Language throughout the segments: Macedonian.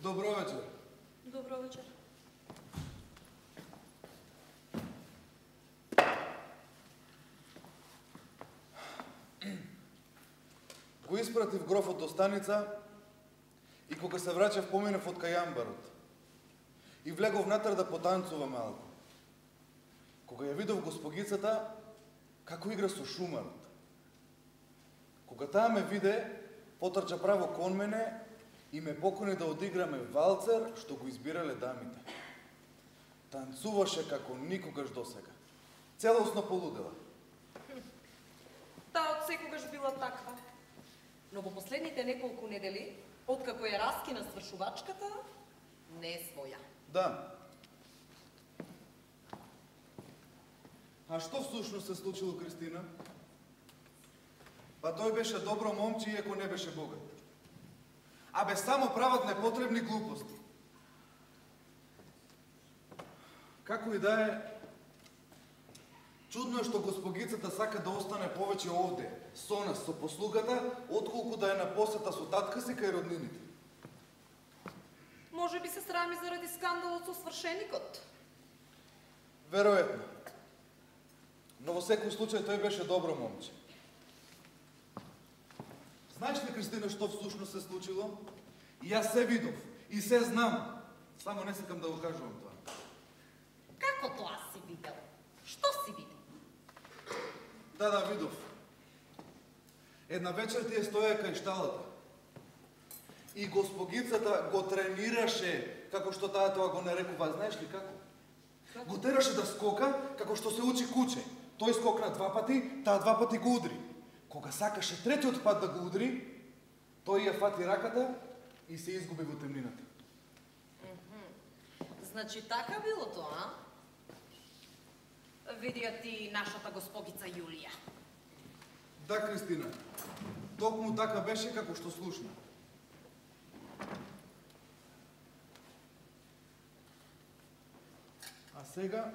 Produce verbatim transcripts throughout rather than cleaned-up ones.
Добро вечер. Добро вечер. Го испратив грофот до станица и кога се враќав поминав од кај амбарот. И влегов внатре да потанцува малку. Кога ја видов госпогицата, како игра со шумарот. Кога таа ме виде, потрча право кон мене и ме покани да одиграме валцер што го избирале дамите. Танцуваше како никогаш досега. Целосно полудела. Таа од секогаш била таква. Но во последните неколку недели, откако ја раскина свршувачката, не е своја. Да. А што всушност се случило, Кристина? Па тој беше добро момче, иако не беше богат. Абе, само прават непотребни глупости. Како и да е, чудно е што госпогицата сака да остане повеќе овде, со нас, со послугата, отколку да е на посета со татка си кај роднините. Може би се срами заради скандалот со свршеникот. Веројатно. Но во секој случај тој беше добро момче. Знаеш ли, Кристина, што всушност се случило? И јас се видов, и се знам. Само не сакам да го кажувам тоа. Како тоа си видел? Што си видел? Да, да, видов. Една вечер тие стоја кај шталата. И госпогицата го тренираше, како што таа тоа го нарекува, знаеш ли како? Како? Го тераше да скока, како што се учи куче. Тој скокна два пати, таа два пати го удри. Кога сакаше третиот пат да го удри, тој ја фати раката и се изгуби во темнината. Mm-hmm. Значи така било тоа, а? Види ја ти нашата госпогица Јулија. Да, Кристина. Токму така беше како што слушна. А сега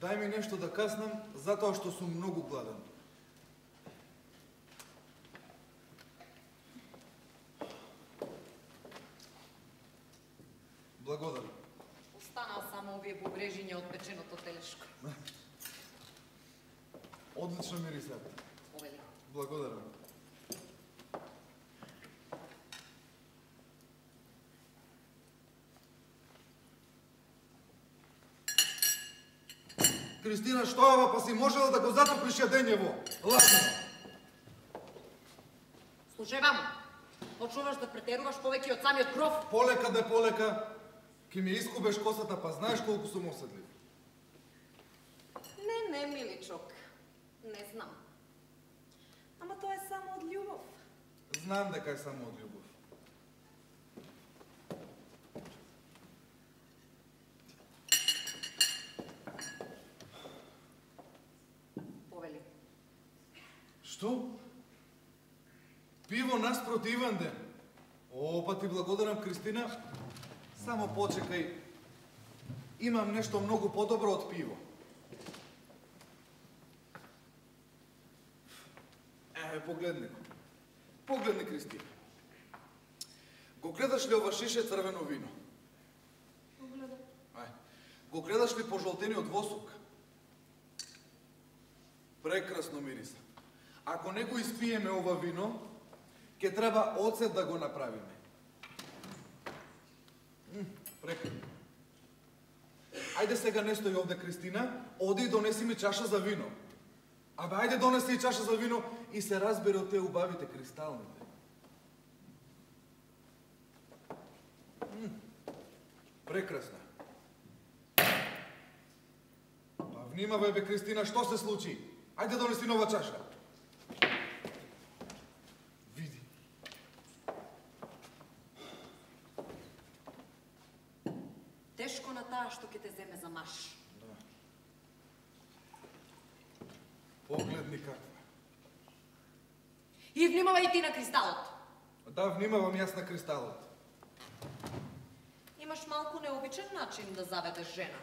дај ми нешто да каснам, затоа што сум многу гладен. Благодарам. Останаа само овие бубрежиња од печеното телешко. Одлично мирисат. Повели. Благодарам. Кристина, што е ова, па си можела да го затоплиш јадењево? Лажно. Слушај вам, почнуваш да претеруваш повеќе од самиот гроф. Полека де полека, ки ми искубеш косата, па знаеш колку сум оседлив. Не, не, миличок. Не знам. Ама тоа е само од љубов. Знам дека е само од љубов. Повели. Што? Пиво наспроти Иван ден. О, па ти благодарам, Кристина. Само почекај. Имам нешто многу подобро од пиво. Е, погледни го. Погледни, Кристина. Го гледаш ли ова шише црвено вино? Погледам. Ај. Го гледаш ли пожолтениот восок? Прекрасно мириса. Ако не го испиеме ова вино, ќе треба оцет да го направиме. М, прекрасно. Ајде сега не стои овде, Кристина, оди и донеси ми чаша за вино. Абе, ајде донеси и чаша за вино и се разбере од те убавите кристалните. М, прекрасно. Па внимавај, бе, Кристина, што се случи? Ајде донеси нова чаша. Види. Тешко на таа што ќе те земе за маш. Да. Погледни каква. И внимавај ти на кристалот. Да, внимавам јас на кристалот. Имаш малку необичен начин да заведеш жена.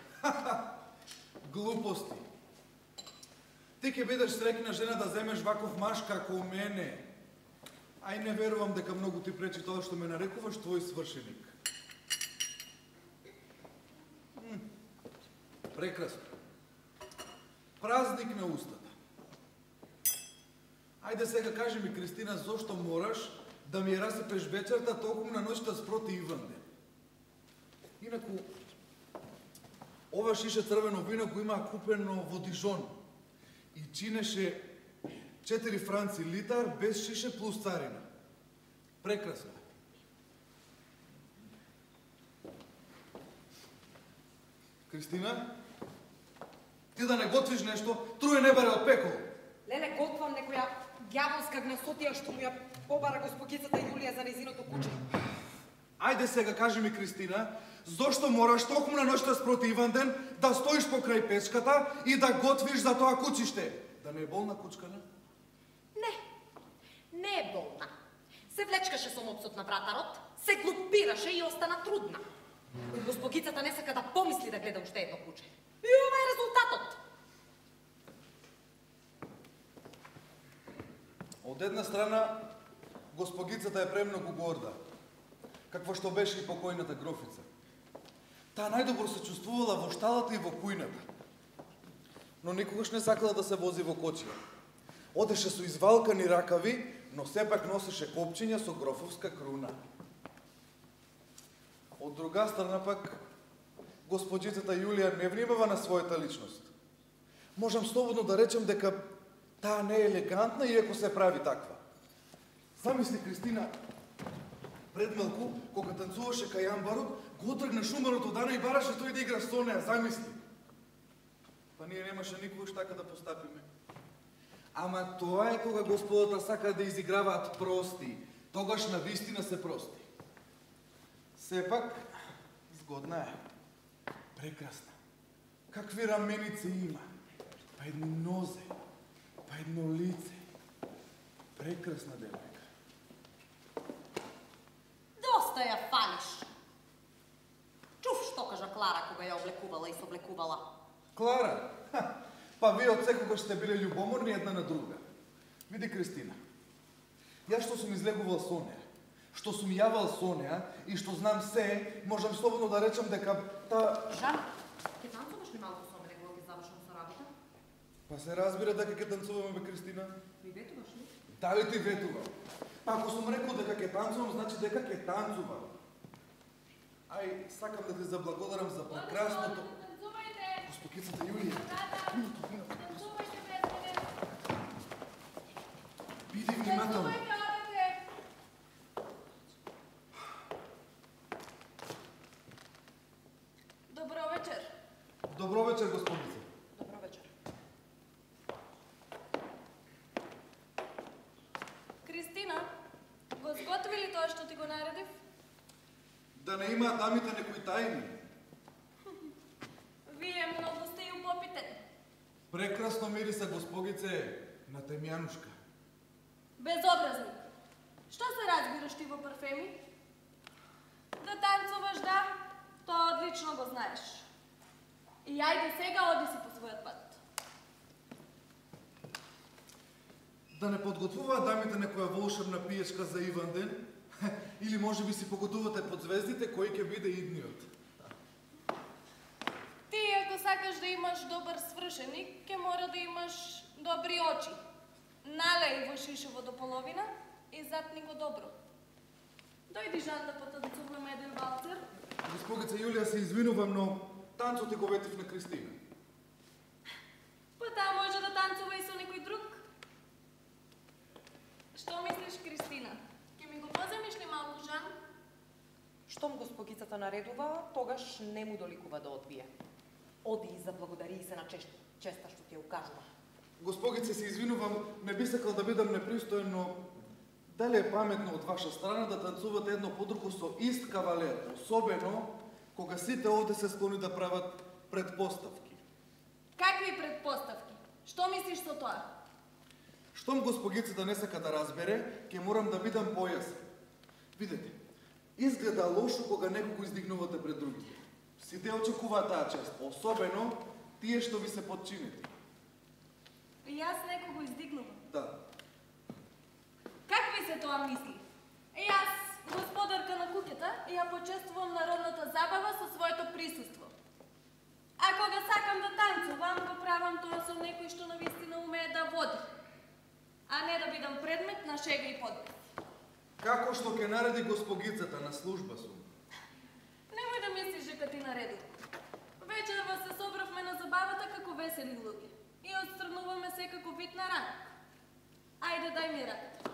Глупости. Ти ќе бидеш среќна жена да земеш ваков маш како мене. Ај не верувам дека многу ти пречи тоа што ме нарекуваш твој свршеник. М, прекрасно. Празник на устата. Ајде сега кажи ми, Кристина, зошто мораш да ми ја расипеш вечерта токму на ноќта спроти Иванде? Инаку, ова шише црвено вино го има купено во Дижон и чинеше четири франци литар без шише плюс царина. Прекрасно. Кристина, ти да не готвиш нешто, труе не бере од пекол. Леле, готвам некоја ѓаволска гнасотија што му ја побара госпогицата Јулија за незиното куче. Ајде сега кажи ми, Кристина, зошто мораш токму на ноќта спроти Иванден да стоиш покрај печката и да готвиш за тоа кучиште? Да не е болна кучкана? Не, не е болна. Се влечкаше со мопсот на вратарот, се глупираше и остана трудна. Госпогицата не сака да помисли да гледа уште едно куче. И ова е резултатот. Од една страна, госпогицата е премногу горда, какво што беше и покојната грофица. Таа најдобро се чувствувала во шталата и во кујната. Но никогаш не сакала да се вози во кочија. Одеше со извалкани ракави, но сепак носеше копчиња со грофовска круна. Од друга страна пак, госпоđицата Јулија не внимава на својата личност. Можам слободно да речем дека таа не е елегантна иако се прави таква. Замисли, Кристина, пред малку, кога танцуваше кај амбарот, го отргна шумарот од Ана и бараше тој да игра со неа, замисли. Па ние немаше никогаш така да постапиме. Ама тоа е кога господата сакаат да изиграваат прости, тогаш на вистина се прости. Сепак, згодна е, прекрасна. Какви раменици има, па едни нозе, па едно лице. Прекрасна девојка. Доста ја фалиш. Чув што кажа Клара кога ја облекувала и соблекувала. Клара? Ха, па вие од секогаш сте биле љубоморни една на друга. Види, Кристина, јас што сум излегувал со неа, што сум јавал со неа и што знам се, можам слободно да речам дека та... Жан, ќе танцуваш ли малку со мене кога ќе завршам со работа? Па се разбира дека ќе танцуваме, бе, Кристина. Ми ветуваш ли? Дали ти ветувам? Па ако сум рекол дека ќе танцувам, значи дека ќе танцувам. Ај, сакам да ти заблагодарам за прекрасното... Танцувајте! Госпогицата Јулија. Да, да. Танцувајте без мене. Биди внимателно. Танцувајте, одете. Добро вечер. Добро вечер, госпогица. Добро вечер. Кристина, го зготви ли тоа што ти го наредив? Да не имаат дамите некои тајни. Вие многу сте и упопитен. Прекрасно мириса, госпогице, на темјанушка. Безобразник. Што се разбираш ти во парфеми? Да танцуваш, да, тоа одлично го знаеш. И ајде сега оди си по својот пат. Да не подготвуваат дамите некоја волшебна пиечка за Иванден? Или може би си погодувате под звездите кој ќе биде идниот? Ти, ако сакаш да имаш добар свршеник, ќе мора да имаш добри очи. Налеј во шишево до половина и затни го добро. Дојди, Жан, да потанцуваме еден валцер. Госпогица Јулија, се извинувам, но танцот го ветив на Кристина. Па таа може да танцува и со некој друг. Што мислиш, Кристина? Ќе ми го поземиш ли малку, Жан? Штом госпогицата наредува, тогаш не му доликува да одбие. Оди и заблагодари се на чест, честа што ти ја укажува. Госпогице, се извинувам, не би сакал да бидам непристоен, но дали е паметно од ваша страна да танцувате едно по друго со ист кавалер, особено кога сите овде се склони да прават предпоставки. Какви предпоставки? Што мислиш со тоа? Штом госпогицата не сака да разбере, ќе морам да бидам појасен. Видете, изгледа лошо кога некого издигнувате пред другите. Сите очекуваат таа чест, особено тие што ви се подчинети. И јас некого издигнувам. Да. Какви се тоа мисли? Јас, господарка на куќата, ја почествувам народната забава со своето присуство. А кога сакам да танцувам, го правам тоа со некој што навистина умее да води, а не да бидам предмет на шега и подвиг. Како што ќе нареди госпогицата на служба сум. Немој да мислиш дека ти наредувам. Вечерва се собравме на забавата како весели луѓе и отстрануваме секако вид на ранок. Ајде, дај ми раката.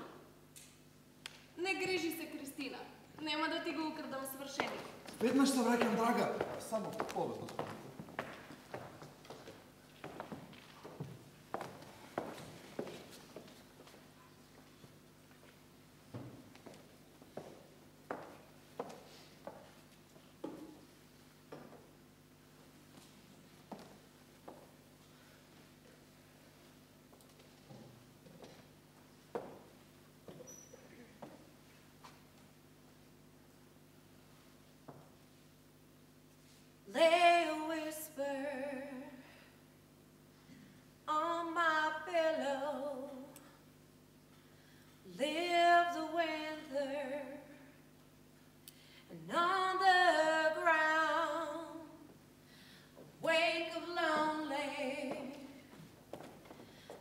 Не грижи се, Кристина. Нема да ти го украдам свршеникот. Веднаш се враќам, драга. Само повез, господице. Lay a whisper on my pillow. Live the winter and on the ground. Wake of lonely,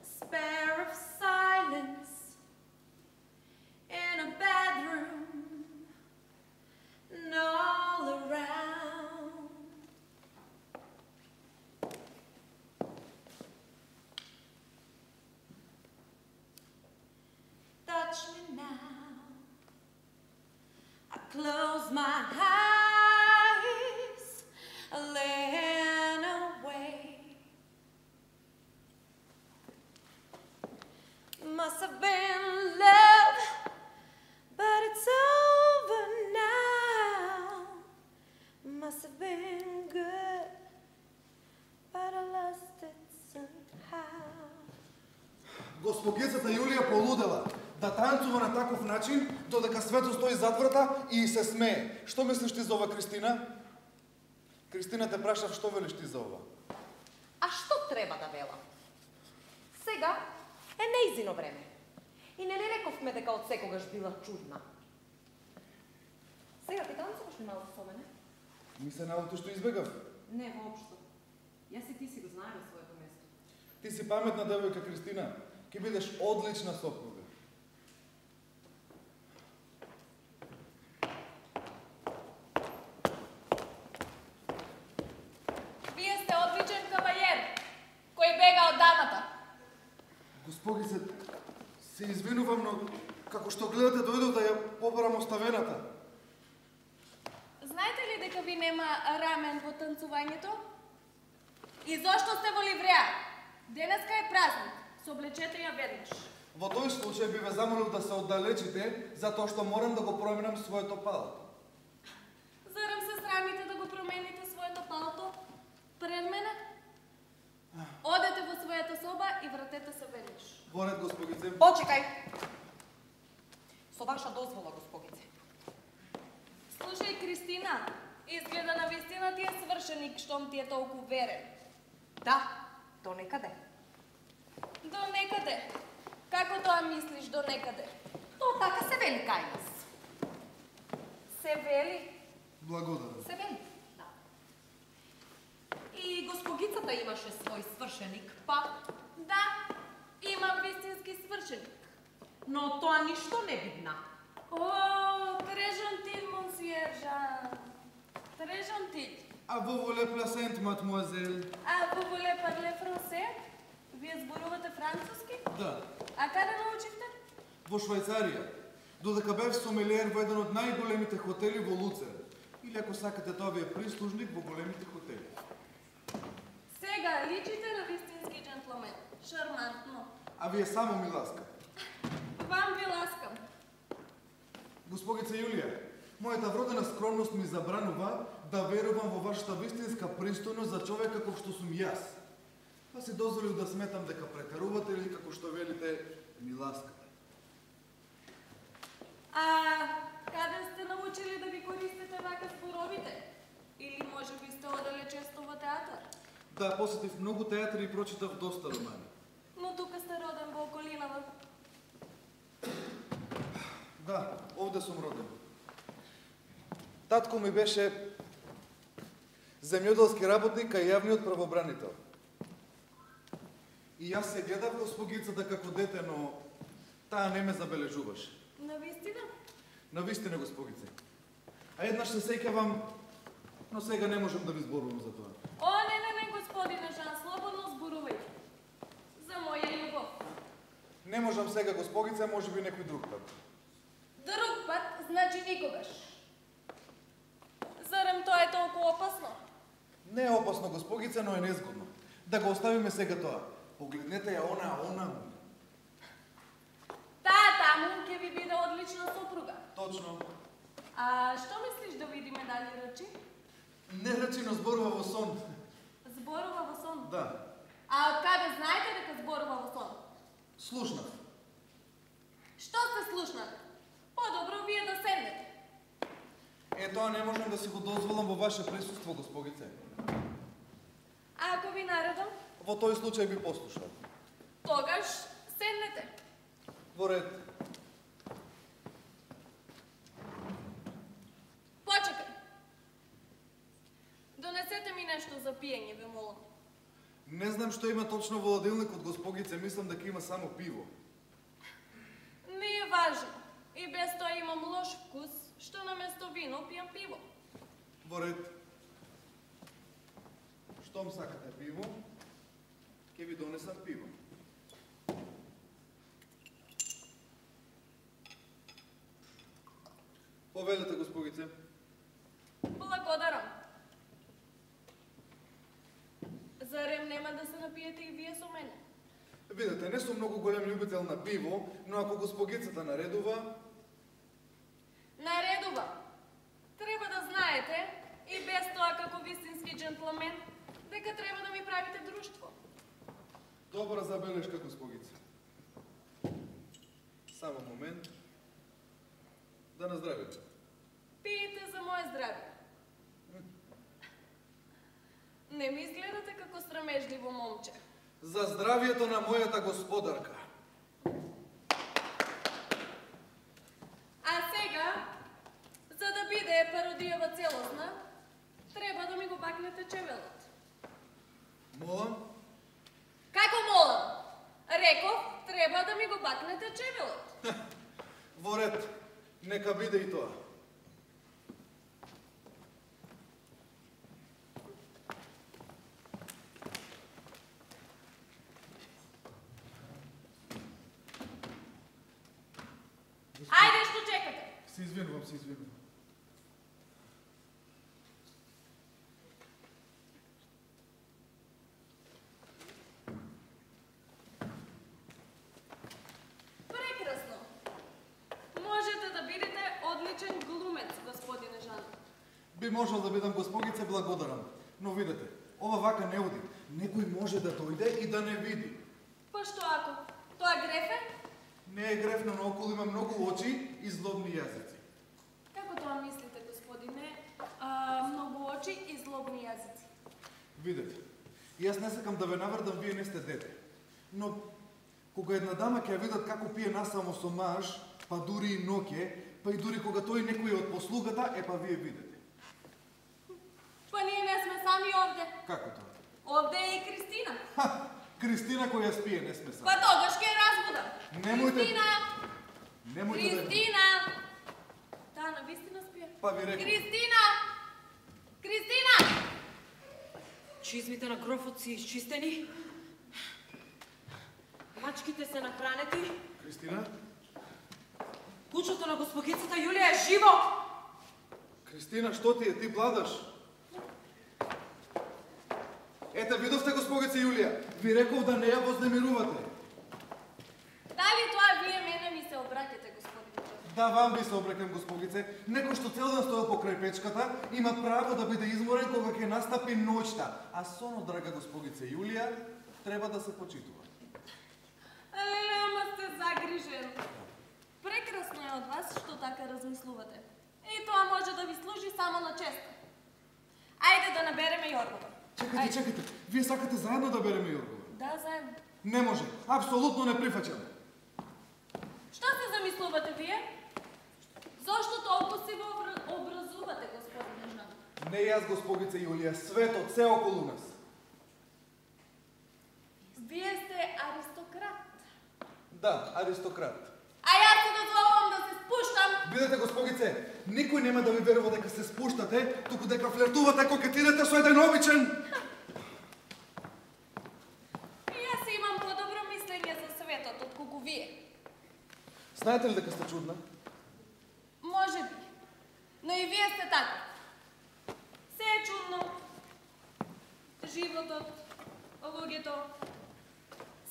spare of silence in a bedroom and all around. Touch me now. I close my eyes, lean away. Must have been love, but it's over now. Must have been good, but I lost it somehow. Госпогицата Јулија полудела да танцува на таков начин, додека Свето стои зад врата и се смее. Што мислиш ти за ова, Кристина? Кристина, те прашав што велиш ти за ова. А што треба да велам? Сега е неизино време. И не ли рековме дека од секогаш била чудна? Сега ти танцуваш ли малку со мене? Ми се наоти што избегав. Не, воопшто. Јас и ти си го знаеме своето место. Ти си паметна девојка, Кристина. Ке бидеш одлична сопруга. Вие сте одличен кавајер, кој бега од дамата. Госпогице, се извинувам, но како што гледате дојдов да ја побарам оставената. Знаете ли дека ви нема рамен во танцувањето? И зошто сте во ливреа? Денеска е празник, соблечете ја веднаш. Во тој случај би ве замолил да се оддалечите, затоа што морам да го променам своето палто. Зарем се срамите да го промените своето палто пред мене? Одете во својата соба и вратете се веднаш. Горед, госпогице. Почекај! Со ваша дозвола, госпогице. Слушај, Кристина, изгледа на вистина ти е свршеник, штом ти е толку верен. Да, до некаде. До некаде. Како тоа мислиш до некаде? То така се вели кај нас. Се вели? Благодарам. Се вели, да. И госпогицата имаше свој свршеник, па... Да, имам вистински свршеник. Но тоа ништо не видна. О, трежантин, монсиержа. Трежантин. А во воле пласент, мадмуазел. А vous voulez parler français? Вие зборувате француски? Да, А каде научивте? во Швајцарија. Додека бев сомелиер во еден од најголемите хотели во Луцер. Или ако сакате, тоа ви е прислужник во големите хотели. Сега личите на вистински джентлмен. Шармантно. А вие само ми ласка. Вам ви ласкам. Госпогица Јулија, мојата вродена скромност ми забранува да верувам во вашата вистинска пристојност за човек како што сум јас. Па си дозволил да сметам дека претерувате или како што велите, ми ласкате. А каде сте научили да ги користите вака зборовите? Или може би сте одале често во театар? Да, посетив многу театри и прочитав доста романи. Но тука сте роден во околинава. Татко ми беше земјоделски работник кај јавниот правобранител. И јас се гледав госпогицата како дете, но таа не ме забележуваше. Навистина? Навистина, госпогице. А еднаш се сеќавам, но сега не можам да ви зборувам за тоа. О, не, не, не, господине Жан, слободно зборувај. За моја љубов. Не можам сега, госпогице, може би некој друг пат. Друг пат, значи никогаш. Зарем тоа е толку опасно? Не е опасно, госпогице, но е незгодно. Да го оставиме сега тоа. Погледнете ја она, она. Таа таму ќе ви биде одлична сопруга. Точно. А што мислиш да видиме дали речи? Не речи, но зборува во сон. Зборува во сон? Да. А од каде знаете дека зборува во сон? Слушнав. Што сте слушнали? Подобро вие да седнете. Е, тоа не можам да си го дозволам во ваше присуство, госпогице. А ако ви наредам? Во тој случај би послушал. Тогаш седнете. Во ред. Почекај. Донесете ми нешто за пиење, ве молам. Не знам што има точно во ладилникот, госпогице, мислам дека има само пиво. Не е важно. И без тоа имам лош вкус, што наместо вино пијам пиво. Во ред. Штом сакате пиво, ќе ви донесам пиво. Повелете, госпогице. Благодарам. Зарем нема да се напиете и вие со мене? Видете, не сум многу голем љубител на пиво, но ако госпогицата наредува... Наредува. Треба да знаете, и без тоа како вистински джентлмен, дека треба да ми правите друштво. Добра забелешка, госпогица. Само момент. Да наздравите. Пиете за моje здравје. Не ми изгледате како срамежливо момче. За здравието на мојата господарка. А сега, за да биде пародијава целосна, треба да ми го бакнете чевелот. Молам? Како молам? Реков, треба да ми го бакнете чевелот. Во ред, нека биде и тоа. Ајде, што чекате? Се извинувам, се извинувам. Прекрасно. Можете да бидете одличен глумец, господине Жан. Би можел да бидам, госпогице, благодарам. Но видете, ова вака не оди. Некој може да дојде и да не види. Па што ако? Тоа греф е? Не е грефно, но околу има многу очи и злобни јазици. Како тоа мислите, господине? А, многу очи и злобни јазици. Видете, јас не сакам да ве наврдам, вие не сте дете. Но, кога една дама ќе ја видат како пие насамо со маж, па дури и ноќе, па и дури кога тој некој од послугата, е па вие видите. Па ние не сме сами овде. Како тоа? Овде е и Кристина. Ха! Кристина која спие, не сме сами. Па тогаш ќе ја разбудам. Немојте... Кристина! Немојте да... Кристина! Таа навистина спие. Па ви реков. Кристина! Кристина! Чизмите на грофот си изчистени. Мачките се нахранети. Кристина? Кучето на госпогицата Јулија е живо! Кристина, што ти е? Ти бладаш? Ете, видовте, госпогица Јулија. Ви реков да не ја вознемирувате. Дали тоа вие мене ми се обраќате, господине Жан? Да, вам би се обрекам, госпогице. Некој што цел ден стоел покрај печката, има право да биде изморен кога ќе настапи ноќта. А соно, драга госпогице Јулија, треба да се почитува. Леле, ама сте загрижен. Прекрасно е од вас што така размислувате. И тоа може да ви служи само на чест. Ајде да набереме Јоргова. Чекайте, чекайте. Вие сакате заедно да береме Јоргова? Да, заедно. Не може. Апсолутно не прифаќам. Што се замислувате вие? Зошто толку си го образувате, господине? Не јас, госпогице Јулија, светот, се околу нас. Вие сте аристократ. Да, аристократ. А јас се дозволувам да се спуштам. Бидете, госпогице, никој нема да ви верува дека се спуштате, туку дека флиртувате, кокетирате со еден обичен. Јас имам подобро мислење за светот отколку вие. Знаете ли дека сте чудна? Може би. Но и вие сте така. Се е чудно. Животот, луѓето.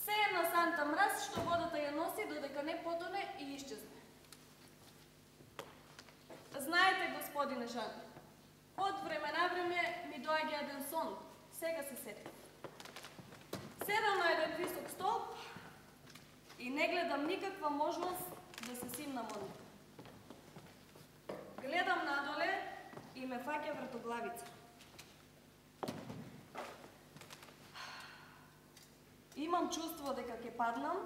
Се е на санта мраз што водата ја носи додека не потоне и исчезне. Знаете, господине Жан, од време на време ми доаѓа еден сон. Сега се сетив. Седам на еден висок столб и не гледам никаква можност да се симнам од него. Гледам надоле и ме фаќа вртоглавица. Имам чувство дека ќе паднам.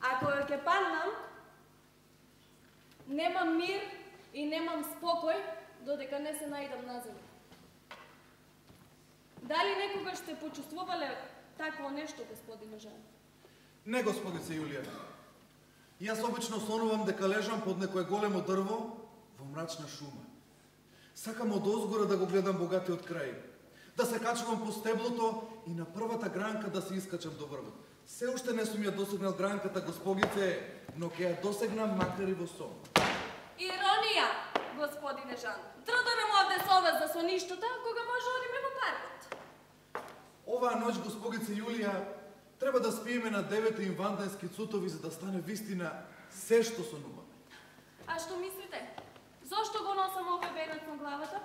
Ако ќе паднам, немам мир и немам спокој додека не се најдам на земја. Дали некогаш сте почувствувале такво нешто, господине Жан? Не, госпогице Јулија. Јас обично сонувам дека лежам под некое големо дрво во мрачна шума. Сакам од озгора да го гледам богатиот крај, да се качувам по стеблото и на првата гранка да се искачам до врвот. Се уште не сум ја досегнал гранката, госпогице, но ќе ја досегнам макар и во сон. Иронија, господине Жан. Трудорам овде со вас за соништата, кога може одиме во паркот. Оваа ноќ, госпогице Јулија, треба да спиеме на девете инвандански цутови за да стане вистина се што сонуваме. А што мислите? Зошто го носам овој венец на главата?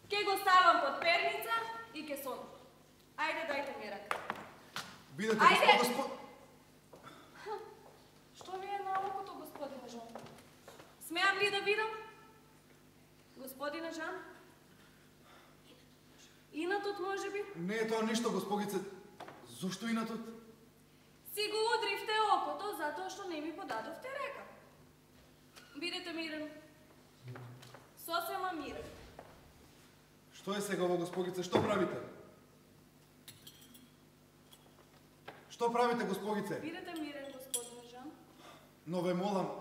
Ке го ставам под перница и ке сонам. Ајде, дајте ми рака. Бидете, Ајде! госпо... Што ви е на окото, господине Жан? Смеам ли да видам? Господине Жан? Инатот може би? Не е тоа ништо, госпогице. Зошто инатот? Си го удривте окото затоа што не ми подадовте река. Бидете мирен. Сосема мирен. Што е сега ово, госпогице? Што правите? Што правите, госпогице? Бидете мирен, господине Жан. Но ве молам.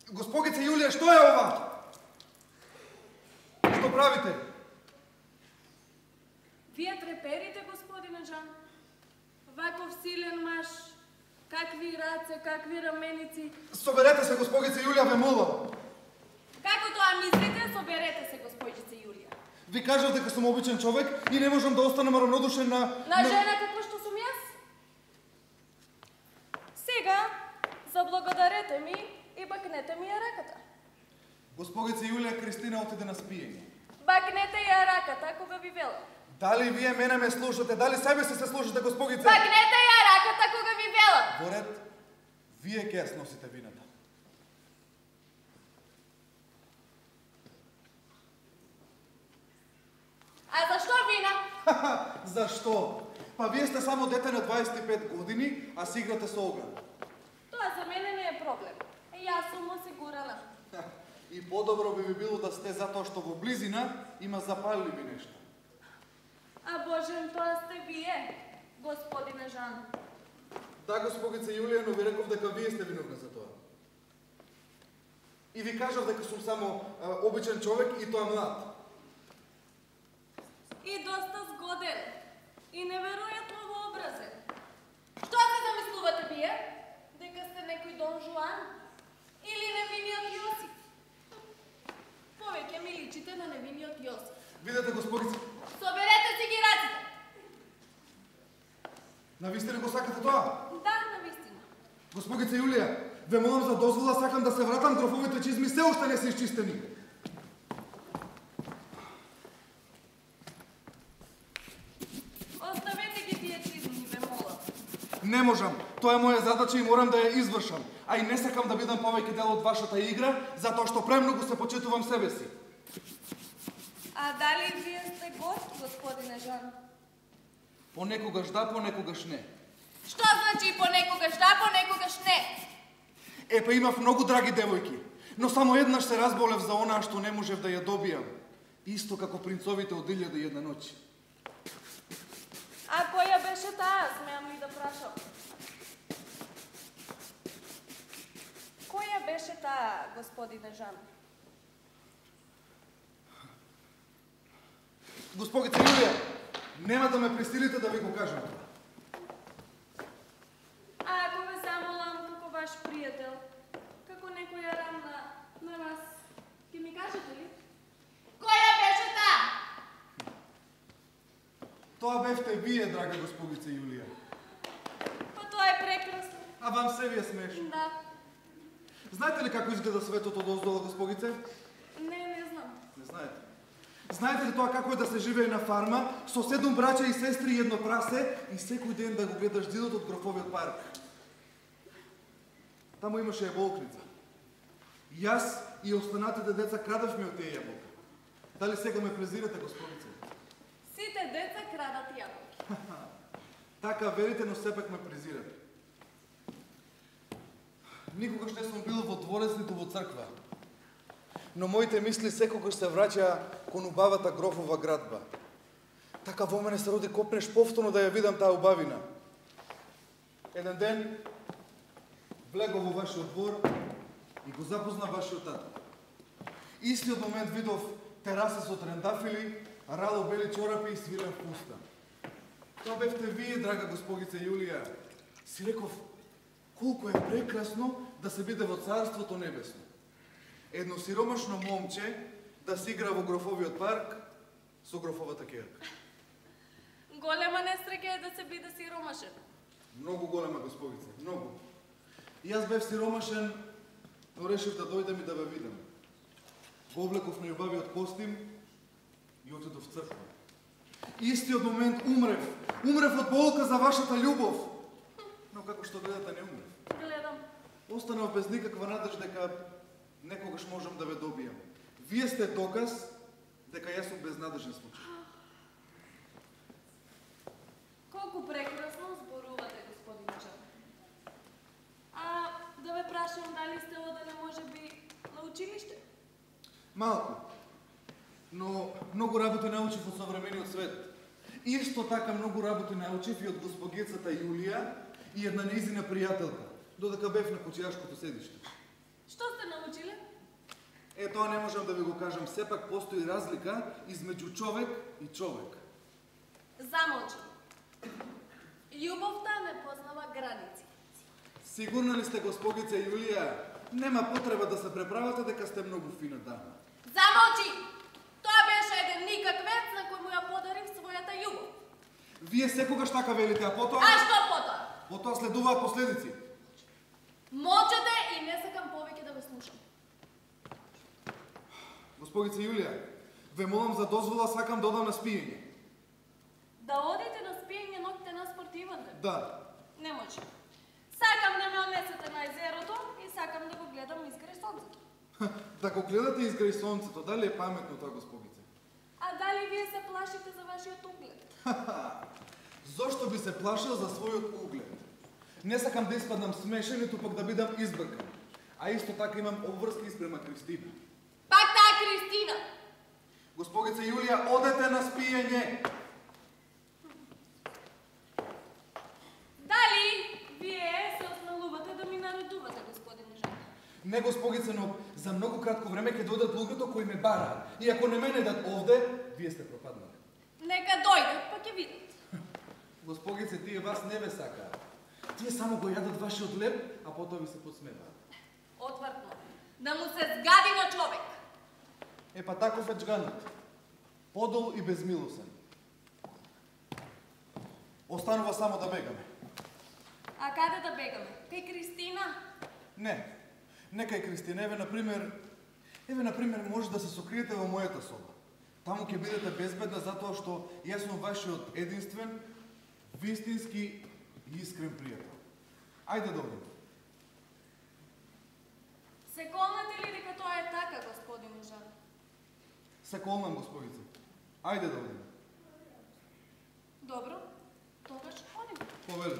Госпогице Јулија, што е ова? Што правите? Вие треперите, господине Жан. Ваков силен маж, какви раце, какви раменици. Соберете се, госпогице Јулија, ве молам. Како тоа мислите, соберете се, господице Јулија. Ви кажав дека сум обичен човек и не можам да останам равнодушен на... На жена како што сум јас? Сега, заблагодарете ми и бакнете ми ја раката. Госпогице Јулија, Кристина отиде на спиење. Бакнете ја раката кога ви велам. Дали вие мене ме слушате? Дали себе си се слушате, госпогице? Бакнете ја раката кога ви велам. Во ред, вие ќе ја сносите вината. А зашто вина? Зашто? Па вие сте само дете на дваесет и пет години, а си играте со оган. Тоа за мене не е проблем. Јас сум осигурана. И подобро би ви било да сте затоа што во близина има запалливи нешта. А Божен, тоа сте вие, господине Жан. Да, госпогице Јулија, но ви реков дека вие сте виновни за тоа. И ви кажав дека сум само а, обичен човек и тоа млад. И доста згоден. И неверојатно вообразен. Што се замислувате вие? Дека сте некој Дон Жуан? Или невиниот Јосиф? Повеќе ми личите на невиниот Јосиф. Видете, госпогице, Соберете си ги раците. навистина го сакате тоа? Да, навистина. Госпогице Јулија, ве молам за дозвола, сакам да се вратам, грофовите чизми се уште не се изчистени. Оставете ги тие чизми, ве молам. Не можам. Тоа е моја задача и морам да ја извршам. А и не сакам да бидам повеќе дел од вашата игра, затоа што премногу се почитувам себе си. А дали вие сте гост, господине Жан? Понекогаш да, понекогаш не. Што значи понекогаш да, понекогаш не? Е, па имав многу драги девојки. Но само еднаш се разболев за онаа што не можев да ја добијам. Исто како принцовите од илјада и една ноќ. А која беше таа, смеам ли да прашам? Која беше таа, господине Жан? Госпогица Јулија, нема да ме присилите да ви го кажам тоа. А ако ве замолам како ваш пријател, како некоја рамна на вас, ќе ми кажете ли? Која беше таа? Тоа бевте вие, драга госпогица Јулија. Па тоа е прекрасно. А вам се ви е смешно. Да. Знаете ли како изгледа светот од оздола, госпогице? Не, не знам. Не знаете. Знаете ли тоа како е да се живее на фарма со седум браќа и сестри и едно прасе и секој ден да го гледаш дидот од грофовиот парк? Таму имаше јаболкница. Јас и останатите деца крадевме од тие јаболки. Дали сега ме презирате, госпогице? Сите деца крадат јаболки. Така верите, но сепак ме презирате. Никогаш не сум бил во дворец ниту во црква. Но моите мисли секогаш се враќаа кон убавата грофова градба. Така во мене се роди копнеш повторно да ја видам таа убавина. Еден ден влегов во вашиот двор и го запозна вашиот тато. Истиот момент видов тераса со трендафили, рало бели чорапи и свилен фустан. Тоа бевте вие, драга госпогица Јулија. Си реков, колку е прекрасно да се биде во Царството Небесно. Едно сиромашно момче да се игра во грофовиот парк со грофовата ќерка. Голема несреќа е да се биде сиромашен. Многу голема, госпогице, многу. И јас бев сиромашен, но решив да дојдем и да ве видам. Го облеков на љубавиот костим и отидов в црква. Истиот момент умрев. Умрев од болка за вашата љубов. Но како што гледате, не умрев. Гледам. Останав без никаква надеж дека некогаш можам да ве добијам. Вие сте доказ дека јас сум безнадежен случај. Колку прекрасно зборувате, господин Жан. А да ве прашам дали сте оделе можеби на училиште? Малку. Но многу работи научив од современиот свет. Исто така многу работи научив и од госпогицата Јулија и една нејзина пријателка, додека бев на кучијашкото седиште. Што сте научиле? Е, тоа не можам да ви го кажам, сепак постои разлика измеѓу човек и човек. Замолчи. Љубовта не познава граници. Сигурна ли сте, госпогица Јулија? Нема потреба да се преправате дека сте многу фина дама. Замолчи! Тоа беше еден никаквец на кој му ја подарив својата љубов. Вие секогаш така велите, а потоа... А што потоа? Потоа следуваат последици. Молчете и не сакам повеќе да ве слушам. Госпогица Јулија, ве молам за дозвола, сакам да одам на спиење. Да одите на спиење ноќте на спортивен ден? Да. Не може. Сакам да ме однесете на езерото и сакам да го гледам изгре сонцето. Да го гледате изграј сонцето, дали е паметно тоа, госпогице? А дали вие се плашите за вашиот углед? Зошто би се плашил за својот углед? Не сакам да испаднам смешен, ниту пак да бидам избркан. А исто така имам обврски спрема Кристина. Пак таа Кристина! Госпогица Јулија, одете на спиење! Дали вие се осмелувате да ми наредувате, господин Жан? Не, госпогице, но за многу кратко време ќе дојдат луѓето кои ме бараат. И ако не ме недат овде, вие сте пропаднали. Нека дојдат, па ќе видат. Госпогице, тие вас не ве сакаат. Тие само го јадат вашиот леб, а потоа ви се подсмеваат. Отвртно. Да му се згади на човек. Е, па таков е джганот. Подол и безмилосен. Останува само да бегаме. А каде да бегаме? Кај Кристина? Не. Не кај Кристина. Еве, например, еве, например, може да се сокриете во мојата соба. Таму ќе бидете безбедна затоа што јас сум вашиот единствен, вистински и искрен пријател. Ајде да одиме. Се колнете ли дека тоа е така, господин Жан? Се колнам, госпогице. Ајде да одиме. Добро, тогаш одиме. Повели.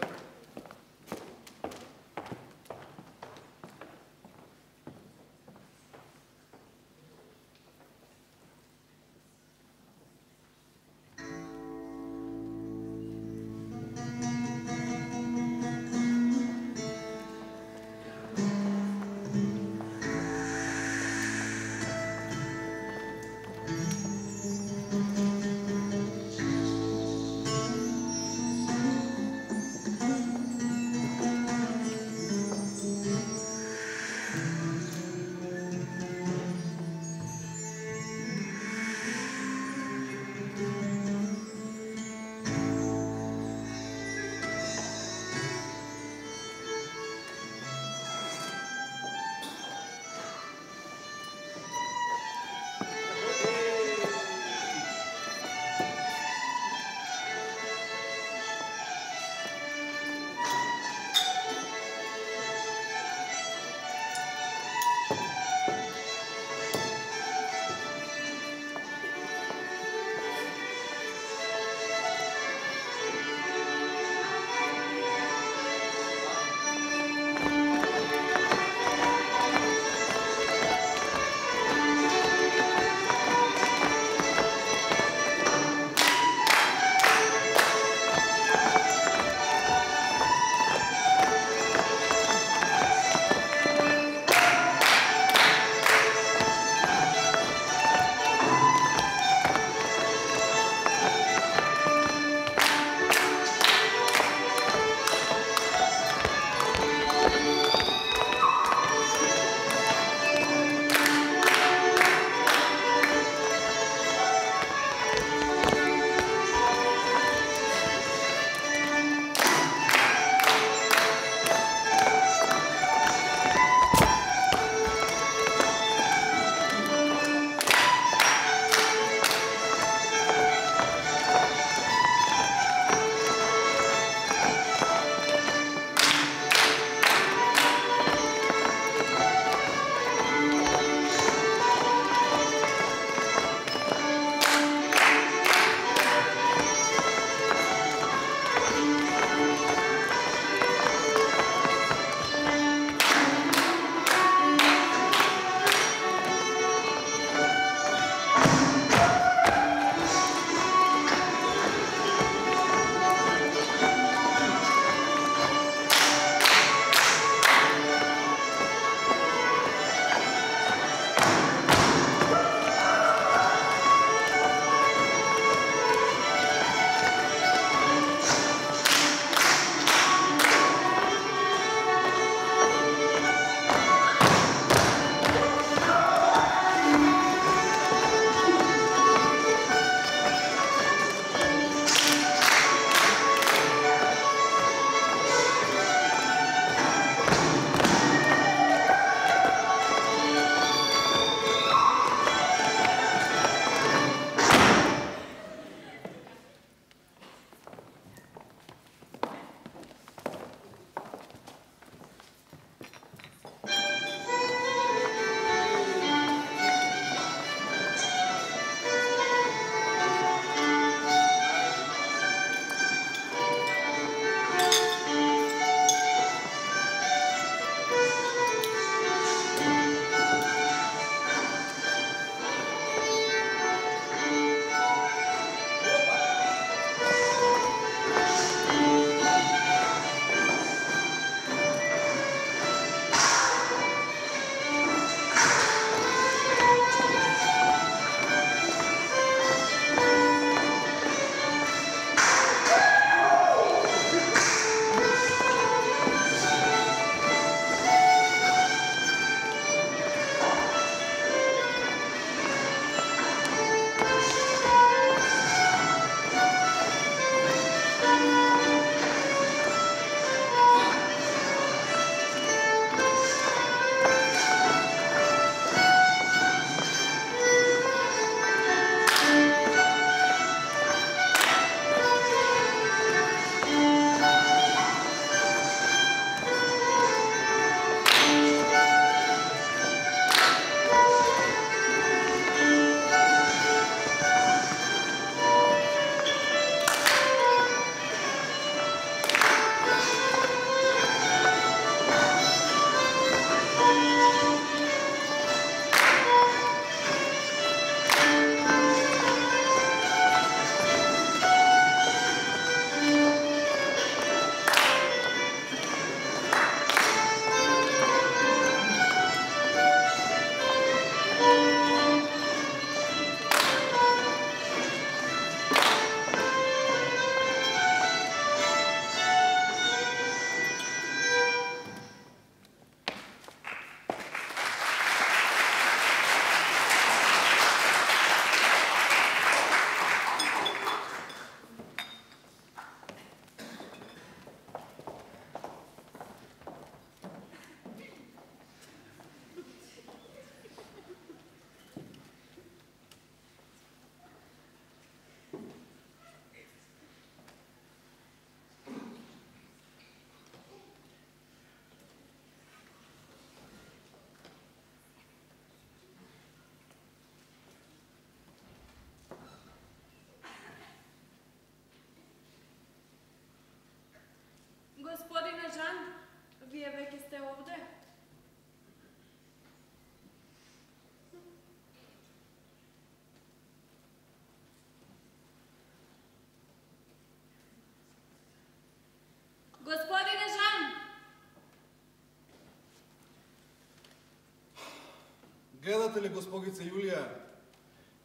Гледате ли, госпогице Јулија?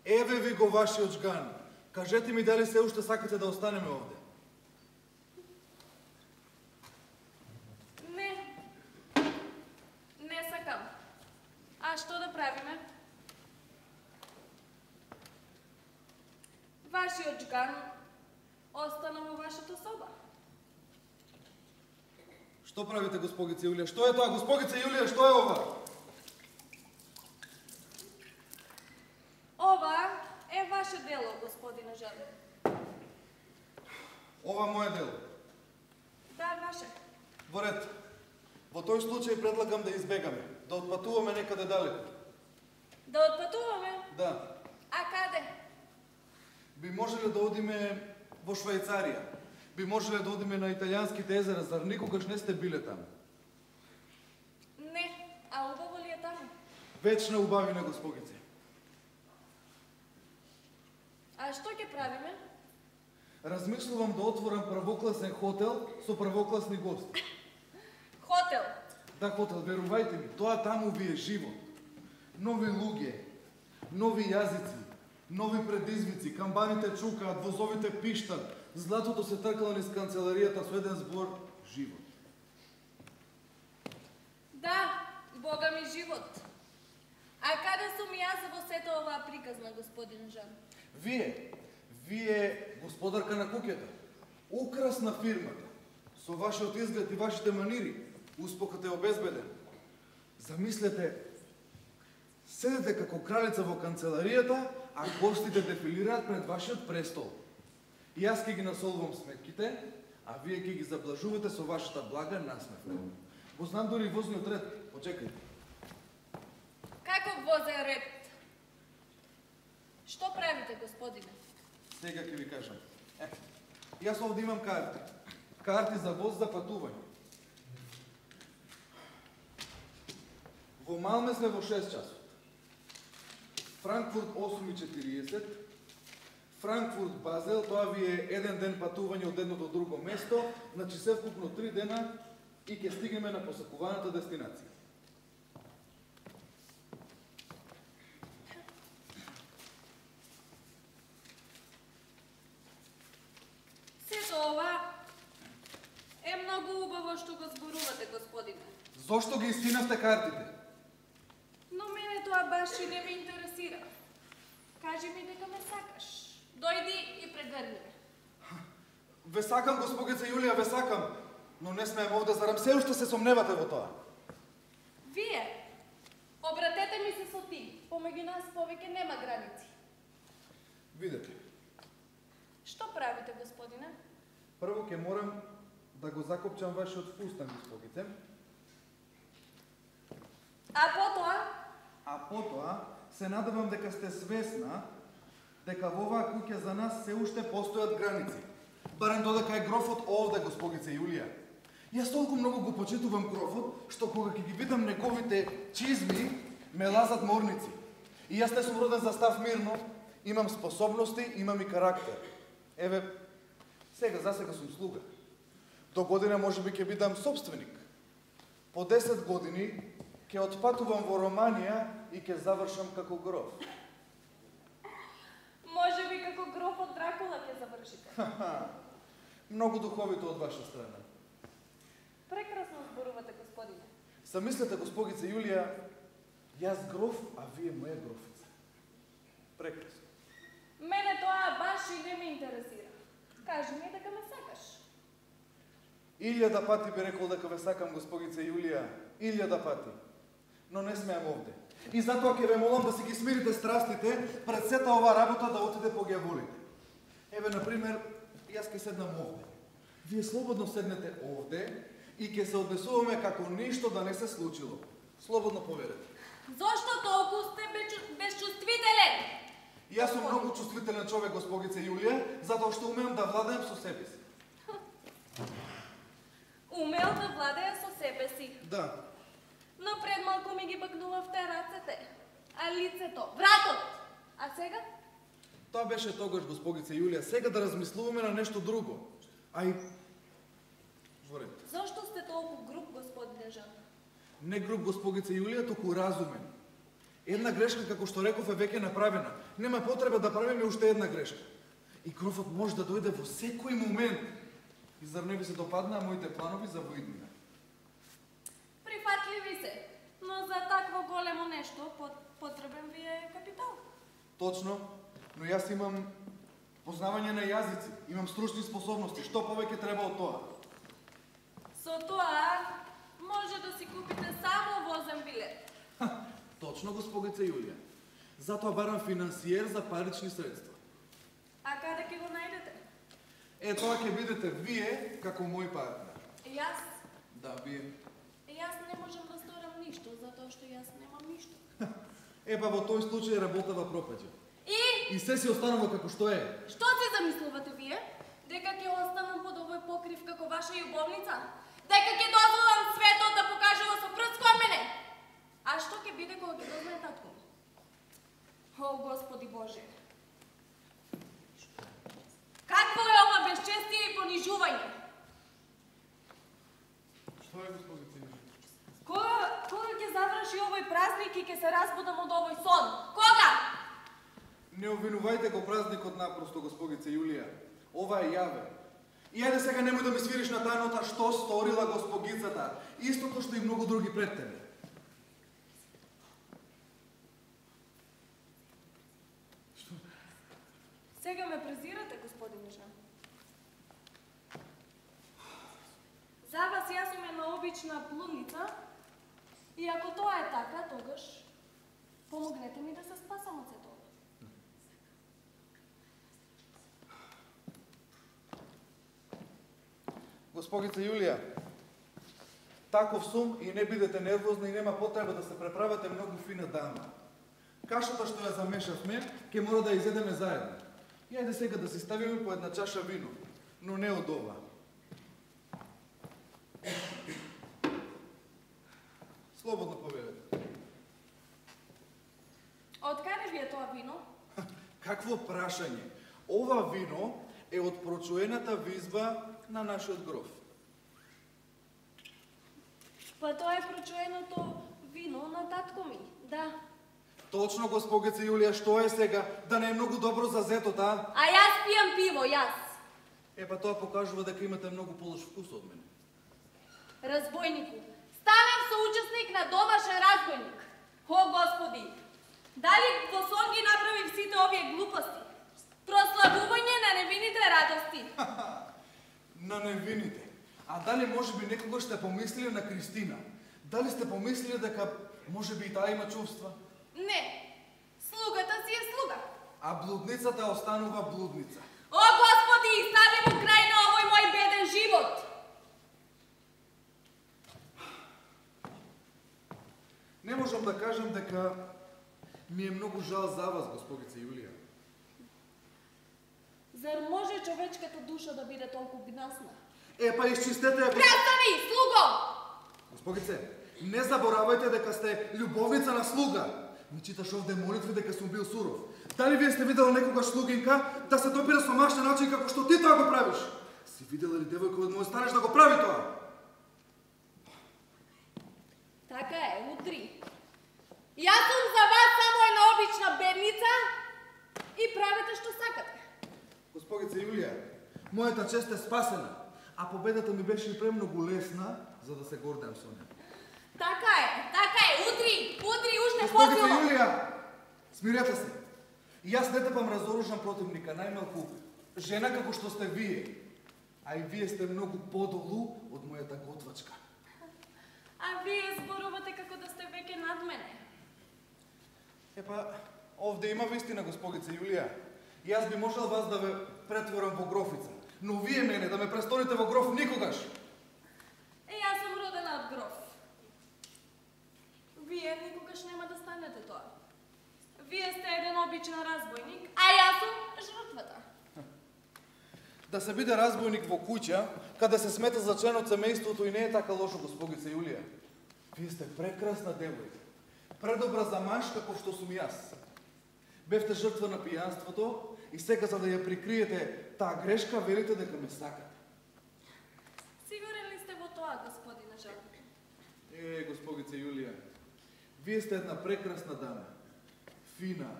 Еве ви го вашиот жган. Кажете ми дали се уште сакате да останеме овде? Не. Не сакам. А што да правиме? Вашиот жган остана во вашата соба. Што правите, госпогице Јулија? Што е тоа, госпогице Јулија? Што е ова? Ова е ваше дело, господине Жан. Ова моје дело. Да, ваше. Во ред. Во тој случај предлагам да избегаме, да отпатуваме некаде далеко. Да отпатуваме? Да. А каде? Би можеле да одиме во Швајцарија. Би можеле да одиме на италијанските езера, зар никогаш не сте биле таму? Не, а убаво ли е таму? Вечна убавина, госпогице. А што ќе правиме? Размислувам да отворам првокласен хотел со првокласни гости. Хотел. Да, хотел, верувајте ми, тоа таму ви е живот. Нови луѓе, нови јазици, нови предизвици, камбаните чукаат, возовите пиштат, златото се тркало низ канцеларијата со еден збор живот. Да, Бога ми живот. А каде сум јас во сета оваа приказна, господин Жан? Вие, вие господарка на куќата, украс на фирмата, со вашиот изглед и вашите манири, успехот е обезбеден. Замислете, седете како кралица во канцеларијата, а гостите дефилираат пред вашиот престол. И јас ќе ги насолвам сметките, а вие ќе ги заблажувате со вашата блага насмевка. Го знам дори возниот ред. Почекајте. Каков возен ред? Што правите, господине? Сега ќе ви кажам. Е, јас овде имам карти. Карти за воз за патување. Во Малме сме во шест часот. Франкфурт осум и четириесет. Франкфурт Базел, тоа ви е еден ден патување од едно до друго место, значи се вкупно три дена и ќе стигнеме на посакуваната дестинација. Сето ова е многу убаво што го зборувате, господине. Зошто ги искинавте картите? Но мене тоа баш и не ме интересира. Кажи ми дека ме сакаш. Дојди и прегрни ме. Ве сакам, госпогице Јулија, ве сакам, но не смеем овде, зарам се уште се сомневате во тоа. Вие, обратете ми се со ти. Помеѓу нас повеќе нема граници. Видете, Што правите, господине? прво ќе морам да го закопчам вашиот фустан, госпогице, А потоа? а потоа се надевам дека сте свесна дека во оваа куќа за нас се уште постојат граници. Барем додека е грофот овде, госпогице Јулија. Јас толку многу го почитувам грофот, што кога ќе ги видам неговите чизми, ме лазат морници. И јас не сум роден за став мирно, имам способности, имам и карактер. Еве, сега, за сега сум слуга. До година можеби ќе бидам собственик. По десет години ќе отпатувам во Романија и ќе завршам како гроф. Може би како гроф од Дракула ќе завршите. Многу духовито од ваша страна. Прекрасно зборувате, господине. Замислете, госпогице Јулија, јас гроф, а вие моја грофица. Прекрасно. Мене тоа баш и не ме интересира. Кажи ми дека ме сакаш. Илјада пати би рекол дека ве сакам, госпогице Јулија, илјада пати. Но не смеам овде. И затоа ќе ве молам да си ги смирите страстите пред сета ова работа да отиде по гјаволите. Еве, например, јас ќе седнам овде. Вие слободно седнете овде и ќе се однесуваме како ништо да не се случило. Слободно поверете. Зошто толку сте бечу- безчувствителен? Јас сум многу чувствителен човек, госпогице Јулија, затоа што умеам да владеам со себе си. Умел да владее со себе си. Да. Но пред малку ми ги бакнувавте рацете. А лицето, вратот. А сега? Тоа беше тогаш, госпогице Јулија. Сега да размислуваме на нешто друго. Ај, во ред. Зошто сте толку груб, господине Жан? Не груб, госпогице Јулија, туку разумен. Една грешка, како што реков, е веќе направена. Нема потреба да правиме уште една грешка. И грофот може да дојде во секој момент. И зар не ви се допаднаа моите планови за воиднина? Прифатливи се, но за такво големо нешто потребен ви е капитал. Точно, но јас имам познавање на јазици, имам стручни способности. Што повеќе треба од тоа? Со тоа може да си купите само возен билет. Ха, точно, господица Јулија. Затоа барам финансиер за парични средства. А каде ќе го најдете? Е, тоа ќе бидете вие како мој партнер. Јас? Да, вие. Јас не можам да сторам ништо, затоа што јас немам ништо. Е, па во тој случај работава пропаѓа. И? И се си останува како што е. Што се замислувате вие? Дека ќе останам под овој покрив како ваша љубовница? Дека ќе дозволам светот да покажува со прст кон мене? А што ќе биде кога ќе дознае татко ми? О, Господи Боже! Какво е ова безчестие и понижување? Што е, господица Јулија? Кога, кога ќе заврши овој празник и ќе се разбудам од овој сон? Кога? Не обвинувајте го празникот напросто, господица Јулија. Ова е јаве. И ајде сега немој да ми свириш на таа нота што сторила госпогицата. Истото што и многу други пред тебе. Што? Сега ме презирате, господин Жан. За вас јас сум една обична блудница и ако тоа е така, тогаш помогнете ми да се спасам од сето. Госпогица Јулија, таков сум и не бидете нервозна и нема потреба да се преправате многу фина дама. Кашата што ја замешавме, ќе мора да ја изедеме заедно. И ајде сега да си ставиме по една чаша вино, но не од ова. Слободно повелете. Од каде ви е тоа вино? Какво прашање? Ова вино е од прочуената визба на нашиот гроф. Па тоа е прочуеното вино на татко ми, да. Точно, госпогица Јулија, што е сега? Да не е многу добро за зетот, а? А јас пијам пиво, јас. Е, па тоа покажува дека имате многу полош вкус од мене. Разбойнику, станав соучесник на домашен разбойник. О, Господи, дали во сон ги направив сите овие глупости? Прославување на невините радости. На невините. А дали може би некогаш сте помислили на Кристина? Дали сте помислили дека може би и таа има чувства? Не, слугата си е слуга. А блудницата останува блудница. О, Господи, стави му крај на овој мој беден живот. Не можам да кажам дека ми е многу жал за вас, госпогица Јулија. Зар може човечката душа да биде толку гнасна? Е, па изчистете ја... Престани, слуго! Госпогице, не заборавајте дека сте љубовница на слуга. Ми читаш овде молитви дека сум бил суров. Дали вие сте видела некогаш слугинка да се допира со машна начин како што ти тоа го правиш? Си видела ли девојка од мој стареж да го прави тоа? Така е, утри. Јас сум за вас само една обична бедница и правете што сакате. Госпогица Јулија, мојата чест е спасена, а победата ми беше и премногу лесна, за да се гордеам со неа. Така е, така е, утри, утри, уште Госпогица посилно. Јулија, смирете се. И јас не тепам разоружен противника, најмалку жена како што сте вие. А и вие сте многу подолу од мојата готвачка. А вие зборувате како да сте веќе над мене. Епа, овде има вистина, госпогица Јулија. Јас би можел вас да ве претворам во грофица, но вие мене да ме престоните во гроф никогаш. Е, јас сум родена од гроф. Вие никогаш нема да станете тоа. Вие сте еден обичен разбойник, а јас сум жртвата. Да се биде разбойник во куќа, каде се смета за член од семејството и не е така лошо, госпогица Јулија. Вие сте прекрасна девојка. Предобра за маж како што сум јас. Бевте жртва на пијанството и сега за да ја прикриете таа грешка, велите дека ме сакате. Сигурен ли сте во тоа, господине Жан? Е, госпогица Јулија, Вие сте една прекрасна дама. Фина,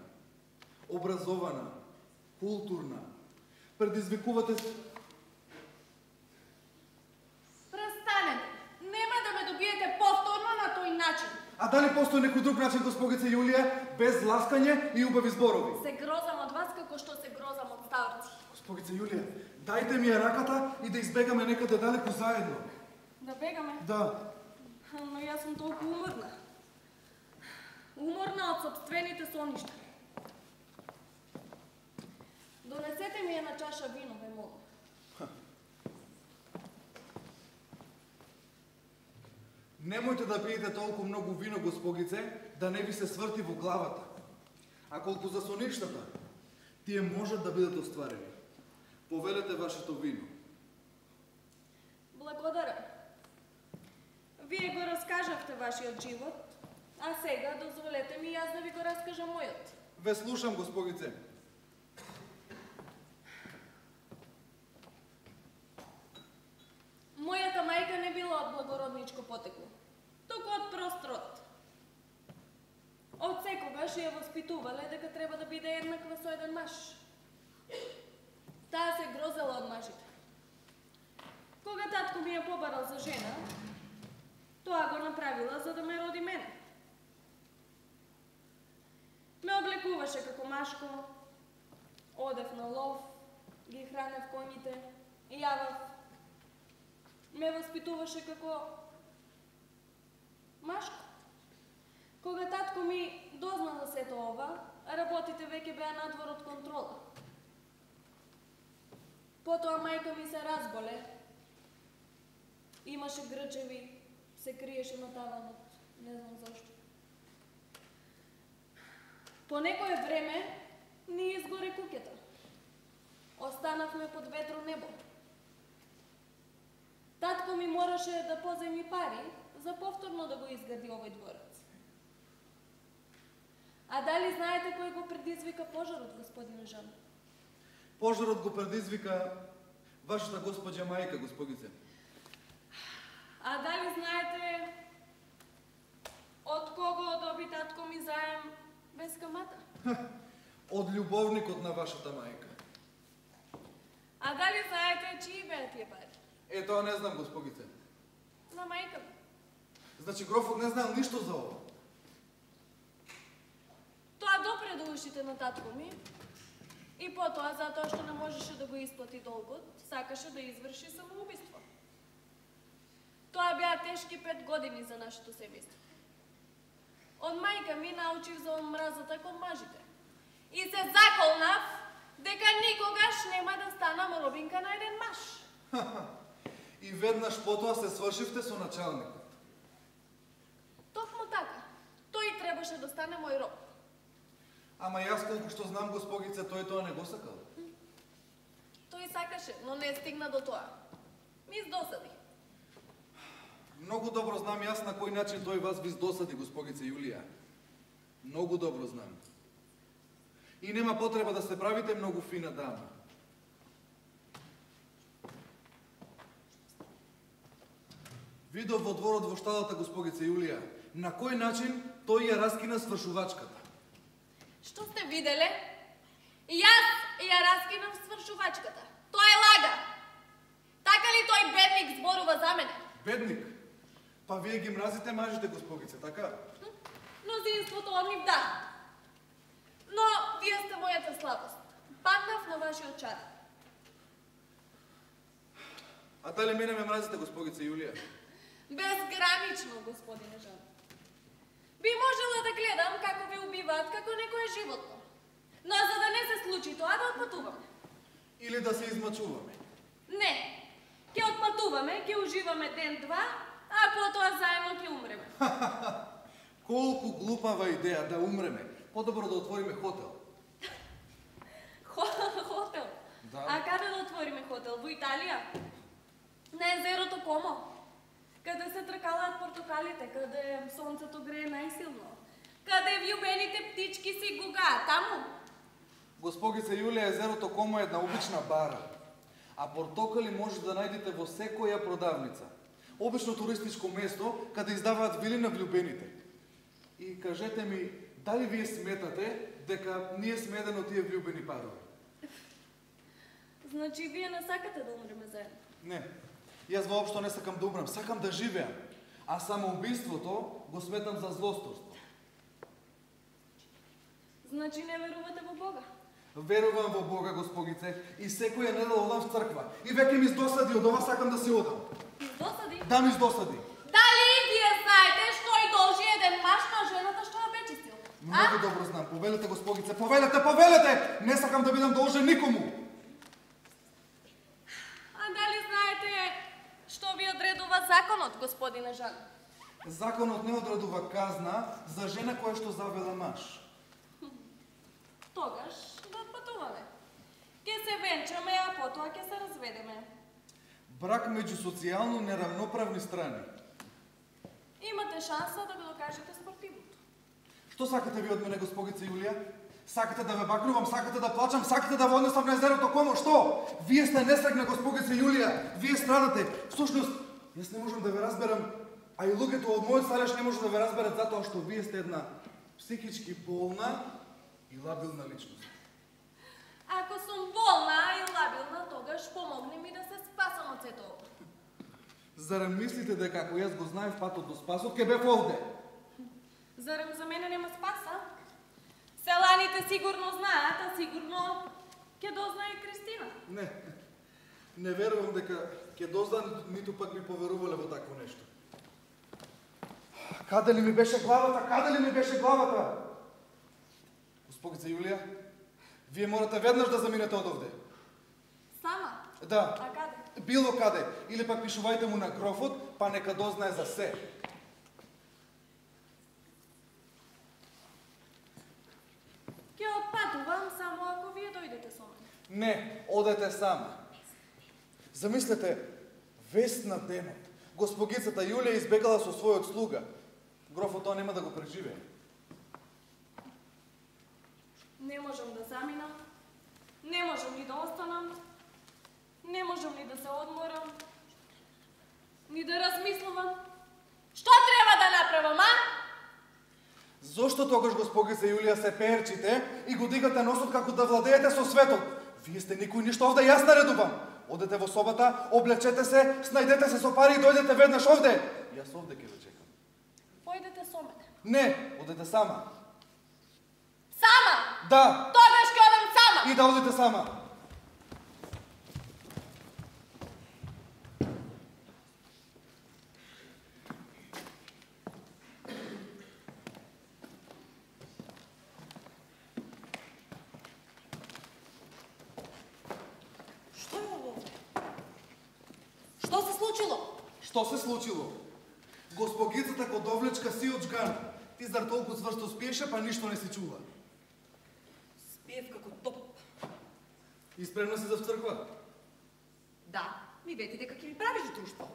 образована, културна. Предизвикувате... Престанете. Нема да ме добиете повторно на тој начин. А дали постои некој друг начин, госпогице Јулија, без ласкање и убави зборови? Се грозам од вас како што се грозам од старци. Госпогице Јулија, дајте ми ја раката и да избегаме некаде далеку заедно. Да бегаме? Да. Но јас сум толку уморна. Уморна од собствените соништа. Донесете ми една чаша вино, ве молам. Немојте да пиете толку многу вино, госпогице, да не ви се сврти во главата. А колку за соништата, тие можат да бидат остварени. Повелете вашето вино. Благодарам. Вие го раскажавте вашиот живот, а сега дозволете ми јас да ви го раскажам мојот. Ве слушам, госпогице. Мојата мајка не била од благородничко потекло, туку од прост род. Од секогаш ја воспитувале дека треба да биде еднаква со еден маж. Таа се грозела од мажите. Кога татко ми ја побарал за жена, тоа го направила за да ме роди мене. Ме облекуваше како машко, одев на лов, ги хранев коњите, јавав. Ме воспитуваше како машко. Кога татко ми дозна за сето ова, работите веќе беа надвор од контрола. Потоа мајка ми се разболе, имаше грчеви, се криеше на таванот, не знам зашто. По некое време ни изгоре куќата. Останавме под ветро небо. Татко ми мораше да поземи пари за повторно да го изгради овој дворец. А дали знаете кој го предизвика пожарот, господине Жан? Пожарот го предизвика вашата госпоđа мајка, госпогице. А дали знаете од кого доби татко ми заем без камата? Од љубовникот на вашата мајка. А дали знаете чии беа тие пари? Е, тоа не знам, госпогице. На мајка ми. Значи, грофот не знал ништо за ова. Тоа допре до ушите на татко ми и потоа, затоа што не можеше да го исплати долгот, сакаше да изврши самоубиство. Тоа беа тешки пет години за нашето семејство. Од мајка ми научив за омразата кон мажите. И се заколнав дека никогаш нема да станам робинка на еден маж. И веднаш потоа се свршивте со началникот. Токму така. Тој требаше да стане мој роб. Ама јас колку што знам, госпогице, тој тоа не го сакал. Тој сакаше, но не стигна до тоа. Ми издосади. Многу добро знам јас на кој начин тој вас ви издосади, госпогице Јулија. Многу добро знам. И нема потреба да се правите многу фина дама. Видов во дворот во шталата, госпогице Јулија, на кој начин тој ја раскина свршувачката. Што сте виделе? Јас ја раскинав свршувачката. Тоа е лага. Така ли тој бедник зборува за мене? Бедник? Па вие ги мразите мажите, госпогице, така? Мнозинството од нив да. Но вие сте мојата слабост. Паднав на вашиот чар. А дали мене ме мразите, госпогице Јулија? Безгранично, господине Жан. Би можела да гледам како ве убиваат како некое животно. Но за да не се случи тоа, да отпатуваме. Или да се измачуваме? Не. Ќе отпатуваме, ќе уживаме ден-два, а потоа заедно ќе умреме. Колку глупава идеја да умреме. Подобро да отвориме хотел. Хотел? Да. А каде да отвориме хотел? Во Италија? На езерото Комо? Каде се тркалаат портокалите, каде сонцето грее најсилно, каде вјубените птички си гугаат, таму? Госпогице Јулија, езерото Комо е една обична бара, а портокали може да најдете во секоја продавница. Обично туристичко место каде издаваат вили на влюбените. И кажете ми, дали вие сметате дека ние сме еден од тие влюбени парови? Значи вие не сакате да умреме заедно? Не. Јас воопшто не сакам да умрам, сакам да живеам. А самоубиството го сметам за злосторство. Значи не верувате во Бога? Верувам во Бога, госпогице, и секоја недела одам в црква. И веќе ми издосади од ова, сакам да се одам. Издосади? Да, ми издосади. Дали вие знаете што и должи еден маж на жената што ја бечистил? Многу добро знам. Повелете, госпогице, повелете, повелете! Не сакам да бидам должен никому. А дали знаете што ви одредува законот, господине Жан? Законот не одредува казна за жена која што завела маж. Тогаш да патуваме. Ке се венчаме, а потоа ќе се разведеме. Брак меѓу социјално неравноправни страни. Имате шанса да го докажете спортивното. Што сакате ви од мене, госпогице Јулија? Сакате да ве бакнувам, сакате да плачам, сакате да ве однесам на езерото Комо? Што? Вие сте несрекна, госпогице Јулија. Вие страдате. Всушност, јас не можам да ве разберам, а и луѓето од мојот сталеж не може да ве разберат затоа што вие сте една психички болна и лабилна личност. Ако сум болна и лабилна, тогаш помогни ми да се спасам од сето ова. Зарем мислите дека ако јас го знаев патот до спасот, ке бев овде? Зарем за мене нема спаса? Селаните сигурно знаат, а сигурно ќе дознае и Кристина. Не, не верувам дека ќе дознаат, ниту пак ми поверувале во такво нешто. Каде ли ми беше главата? Каде ли ми беше главата? Госпогице Јулија, вие морате веднаш да заминете од овде. Сама? Да. А каде? Било каде. Или пак пишувајте му на грофот, па нека дознае за се. Ќе отпатувам само ако вие дојдете со мене. Не, одете сама. Замислете, вест на денот. Госпогицата Јулија избегала со својот слуга. Грофот тоа нема да го преживее. Не можам да заминам, не можам ни да останам, не можам ни да се одморам, ни да размислувам. Што треба да направам, а? Зошто тогаш, госпогице Јулија, се перчите и го дигате носот како да владеете со светот? Вие сте никој ништо овде, јас наредувам. Одете во собата, облечете се, снајдете се со пари и дојдете веднаш овде. Јас овде ќе ве чекам. Појдете со мене. Не, одете сама. Сама? Да. Тогаш ќе одам сама. И да одите сама. Што е ово? Што се случило? Што се случило? Госпогицата го довлечка си од жган. Ти зар толку цврсто спиеше, па ништо не си чува. Спиев како топ. И спремна си за в црква? Да, ми вети дека ќе ми правиш друштво.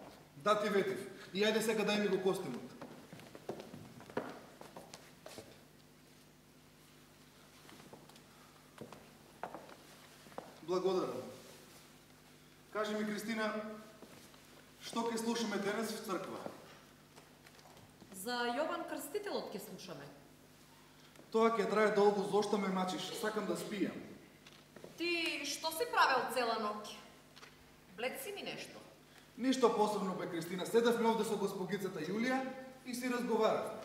Да, ти ветив. И ајде сега дај ми го костимот. Благодарам. Кажи ми, Кристина, што ќе слушаме денес в црква? За Јован Крстителот ќе слушаме. Тоа ќе трае долго, зошто ме мачиш? Сакам да спијам. Ти што си правел цела ноќ? Блед си ми нешто. Ништо посебно, бе, Кристина. Седевме овде со госпогицата Јулија и си разговаравме.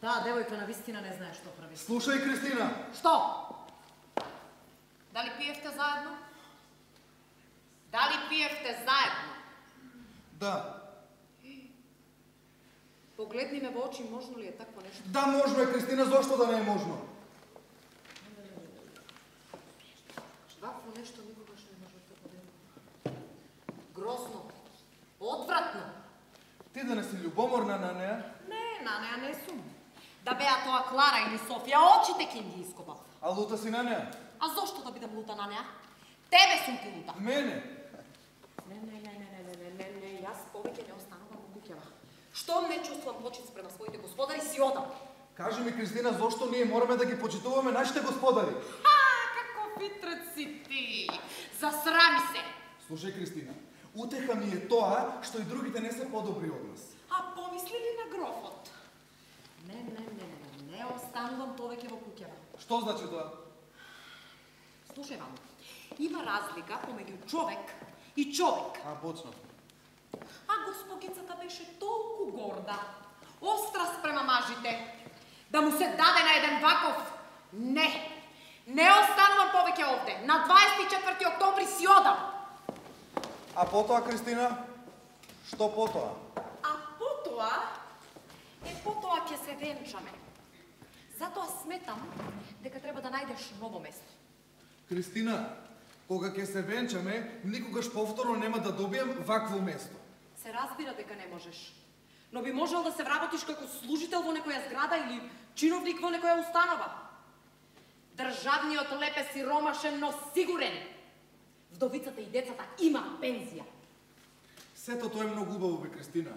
Таа девојка на вистина не знае што прави. Слушај, Кристина! Што? Дали пиевте заедно? Дали пиевте заедно? Да. Погледни ме во очи, можно ли е такво нешто? Да, можно е, Кристина, зошто да не е можно? Вакво нешто никогаш не може да поделам. Грозно. Одвратно. Ти да не си љубоморна на неа? Не, на неа не сум. Да беа тоа Клара или Софија, очите ќе им ги ископав. А лута си на неа? А зошто да бидам лута на неа? Тебе сум ти лута. Мене? Не, не, не, не, не, не, не, не, јас повеќе не останувам во куќава. Штом не чувствувам почит спрема своите господари, си одам. Кажи ми, Кристина, зошто ние мораме да ги почитуваме нашите господари? Ха, како фитрец си ти! Засрами се! Слушај, Кристина, утеха ми е тоа што и другите не се подобри од нас. А помисли ли на грофот? Не, не, не, не, не останувам повеќе во куќава. Што значи тоа? Слушај, мамо, има разлика помеѓу човек и човек. А, почна. А госпогицата беше толку горда, остра спрема мажите, да му се даде на еден ваков. Не, не останувам повеќе овде. На дваесет и четврти октомври си одам. А потоа, Кристина? Што потоа? А потоа, е потоа ќе се венчаме. Затоа сметам дека треба да најдеш ново место. Кристина, кога ќе се венчаме, никогаш повторно нема да добием вакво место. Се разбира дека не можеш. Но би можел да се вработиш како служител во некоја зграда или чиновник во некоја установа. Државниот леп е сиромашен, но сигурен. Вдовицата и децата има пензија. Сето тоа е многу убаво, бе, Кристина.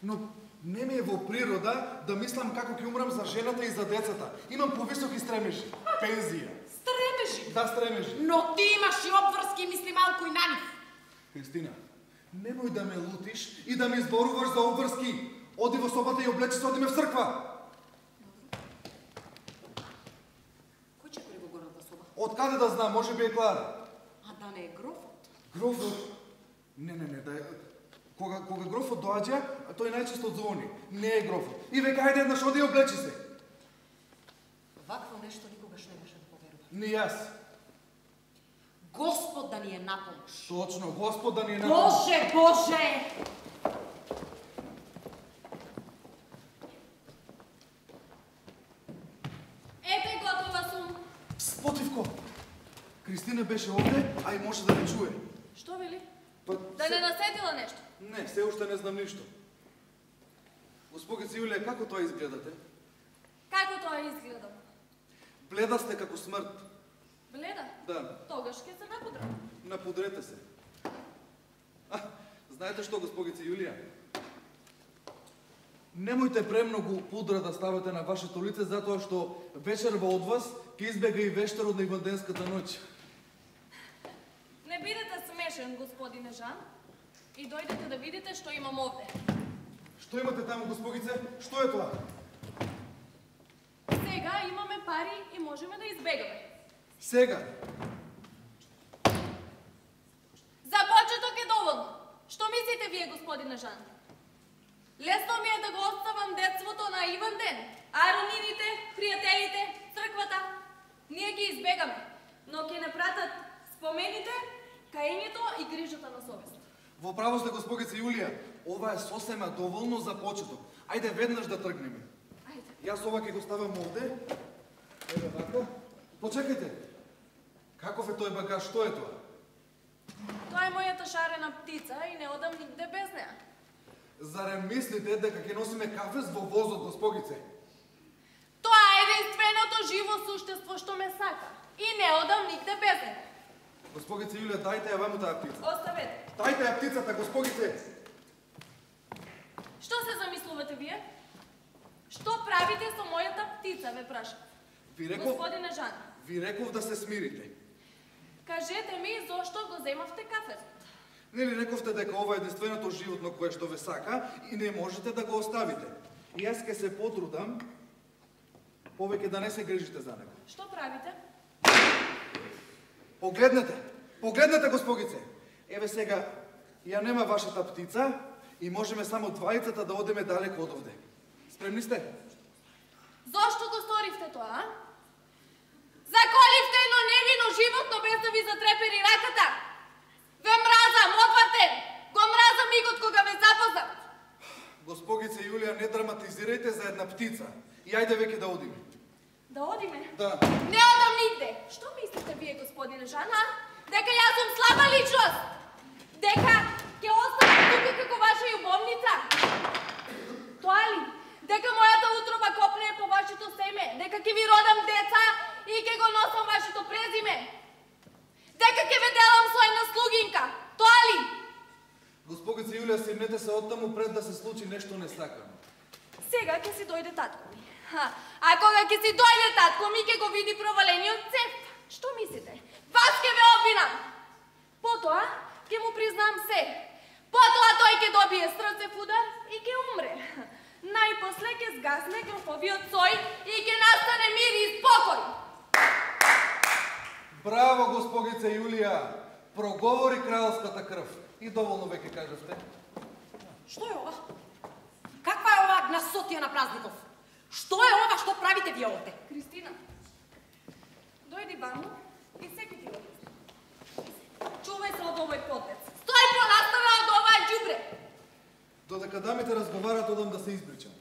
Но не ми е во природа да мислам како ќе умрам за жената и за децата. Имам повисоки стремежи. Пензија. Стремежи. Да, стремежи. Но ти имаш и обврски и мисли малку и на нив. Кристина, немој да ме лутиш и да ми зборуваш за обврски. Оди во собата и облечи се, одиме в црква. Кој ќе кори во горната соба? Откаде да знам, може би е Клара. А да не е грофот? Грофот? Не, не, не, да е... Кога, кога грофот доаѓа, тој најчесто звони. Не е грофот. И века, ајде еднаш, оди и облечи се. Вакво нешто никогаш не беше да поверува. Не јас. Господ да ни е на помош. Точно, Господ да ни е на помош. Боже, Боже! Ете, готова сум. Спотивко! Кристина беше овде, а и може да не чуе. Што вели? Па, Да се- не наседила нешто? Не, се уште не знам ништо. Госпогица Јулија, како тоа изгледате? Како тоа изгледа? Бледа сте како смрт. Бледа? Да, Тогаш ќе се напудрам. напудрете се. А, знаете што, госпогица Јулија? Немојте премногу пудра да ставате на вашето лице, затоа што вечерва од вас ќе избега и вештерот на Иванденската ноќ. Не бидете смешен, господине Жан, и дојдете да видите што имам овде. Што имате таму, госпогице? Што е тоа? Сега имаме пари и можеме да избегаме. Сега. За почеток е доволно. Што мислите вие, господине Жан? Лесно ми е да го оставам детството на Иван ден, а роднините, пријателите, црквата. Ние ги избегаме, но ќе не пратат спомените, каењето и грижата на совест. Во право сте, госпогица Јулија. Ова е сосема доволно за почеток. Ајде веднаш да тргнеме. Ајде. Јас ова ќе го ставам овде. Еве вака. Почекајте. Каков е тој багаж? Што е тоа? Тоа е мојата шарена птица и не одам нигде без неа. Зарем мислите дека ќе носиме кафес во возот, госпогице? Тоа е единственото живо суштество што ме сака и не одам нигде без неа. Госпогице Јулија, дајте ја ваму таа птица. Оставете. Дајте ја птицата, госпогице. Што се замислувате вие? Што правите со мојата птица, ве прашам? Ви реков, Господине Жан, ви реков да се смирите. кажете ми зошто го земавте кафето? Нели рековте дека ова е единственото животно кое што ве сака и не можете да го оставите. И јас ќе се потрудам повеќе да не се грижите за него. Што правите? Погледнете, погледнете, госпогице. Еве сега, ја нема вашата птица и можеме само двајцата да одиме далеко од овде. Спремни сте? Зошто го сторивте тоа, а? Заколивте едно невино животно без да ви затрепери раката. Ве мразам, отвратен! Го мразам мигот кога ме запознат. Госпогице Јулија, не драматизирајте за една птица. И ајде веќе да одиме. Да одиме? Да. Не одам нигде. Што мислите вие, господине Жан, а? Дека јас сум слаба личност? Дека ќе останам тука како ваша љубовница? Тоа ли? Дека мојата утроба копне по вашето семе? Дека ќе ви родам деца и ќе го носам вашето презиме? Дека ќе ве делам со една слугинка? Тоа ли? Госпогице Јулија, симнете се оттаму пред да се случи нешто несакано. Сега ќе си дојде татко ми. Ха, а кога ќе си дојде татко ми, ќе го види провалениот цев. Што мислите? Вас ќе ве обвинам. Потоа ќе му признам се. Потоа тој ќе добие срцев удар и ќе умре. најпосле ќе згасне грофовиот сој и ќе настане мир и спокој. Браво, госпогице Јулија! Проговори кралската крв. И доволно веќе кажавте. Што е ова? Каква е ова гнасотија на празников? Што е ова што правите вие овде? Кристина, дојди ваму и секи ти го објасни. Чувај се од овој подлец. Стој понастава од оваа ѓубре. Додека дамите разговарат, одам да се избричам.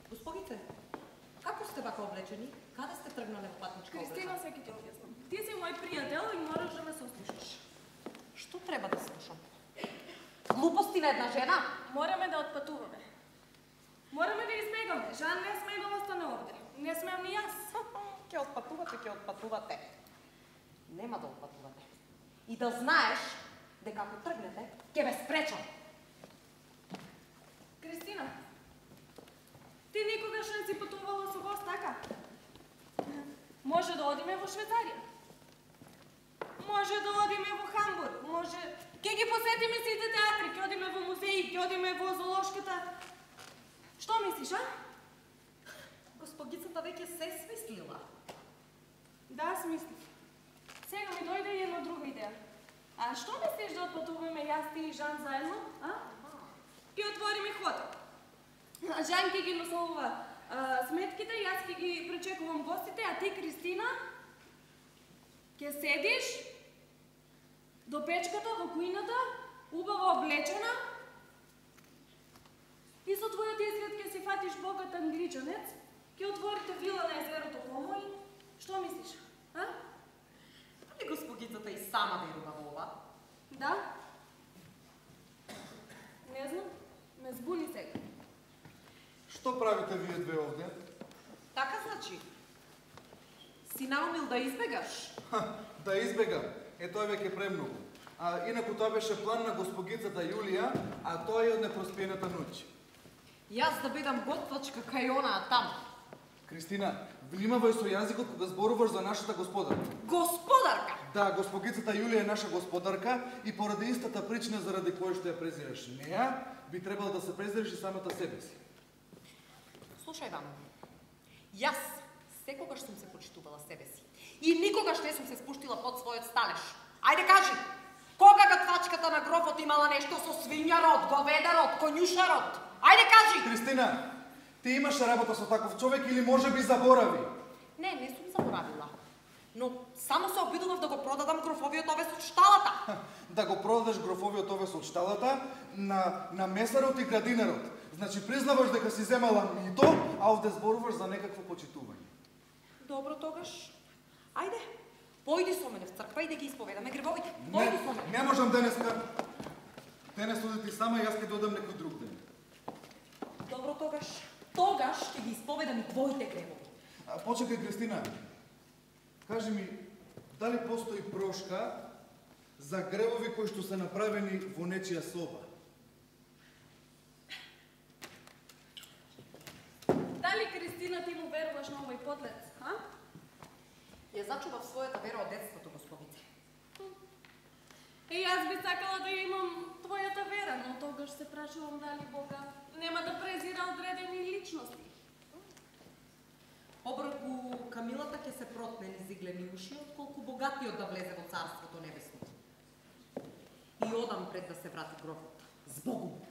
Госпогице, како сте вака облечени? Каде сте тргнале во патничка облека? Кристина, секи ти објаснам. Ти си мој пријател и мораш да ме сослушаш. Што треба да слушам? Глупости на една жена? Мораме да отпатуваме. Мораме да избегаме. Жан не сме да остане овде. Не смеам ни јас. Ќе отпатувате, ќе отпатувате. Нема да отпатувате. И да знаеш дека ако тргнете, ќе ве спречам. Кристина, ти никогаш не си патувала со гост, така? Може да одиме во Швајцарија. Може да одиме во Хамбург. Може... Ке ги посетиме сите театри, ке одиме во музеи, ке одиме во зоолошката. Што мислиш, а? Госпогицата веќе се смислила. Да, смислив. Сега ми дојде и една друга идеја. А што мислиш да отпатуваме јас, ти и Жан заедно, а? Ке отвориме хотел. Жан ке ги носува а, сметките, јас ке ги пречекувам гостите, а ти, Кристина, ке седиш до печката во кујната, убаво облечена, и со твојот изглед ке си фатиш богат англичанец, ке отворите вила на езерото Комо и што мислиш, а? Дали госпогицата и сама верува во ова? Да? Не знам, ме збуни сега. Што правите вие две овде? Така значи. Си наумил да избегаш? Ха, да избегам. Е, тоа веќе премногу. А инаку тоа беше план на госпогицата Јулија, а тоа е од непроспиената ноќ. Јас да бидам готвачка кај онаа таму. Кристина, внимавај со јазикот кога зборуваш за нашата господарка. Господарка! Да, госпогицата Јулија е наша господарка и поради истата причина заради која што ја презираш неа, би требало да се презираш и самата себе си. Слушај вам, јас секогаш сум се почитувала себе си и никогаш не сум се спуштила под својот сталеж. Ајде кажи, кога готвачката на грофот имала нешто со свињарот, говедарот, конјушарот? Ајде кажи! Кристина, ти имаш работа со таков човек или може би заборави? Не, не сум заборавила. Но само се обидував да го продадам грофовиот овес од шталата. Да го продадеш грофовиот овес од шталата на, на месарот и градинарот. Значи признаваш дека си земала мито, а овде зборуваш за некакво почитување. Добро тогаш. Ајде, појди со мене в црква и да ги исповедаме гревовите. Појди со мене. Не, не можам денеска. Денес оди ти сама, јас ќе додам некој друг ден. Добро тогаш. Тогаш ќе ги исповедам и твоите гревови. А, почекај, Кристина. Кажи ми, дали постои прошка за гревови кои што се направени во нечија соба? Дали, Кристина, ти му веруваш на овој подлец, а? Ја зачував својата вера од детството, господице. И јас би сакала да имам твојата вера, но тогаш се прашувам дали Бога нема да презира одредени личности. Обрку Камилата ќе се протне низ иглени уши, отколку богатиот да влезе во царството небесно. И одам пред да се врати грофот. Збогум!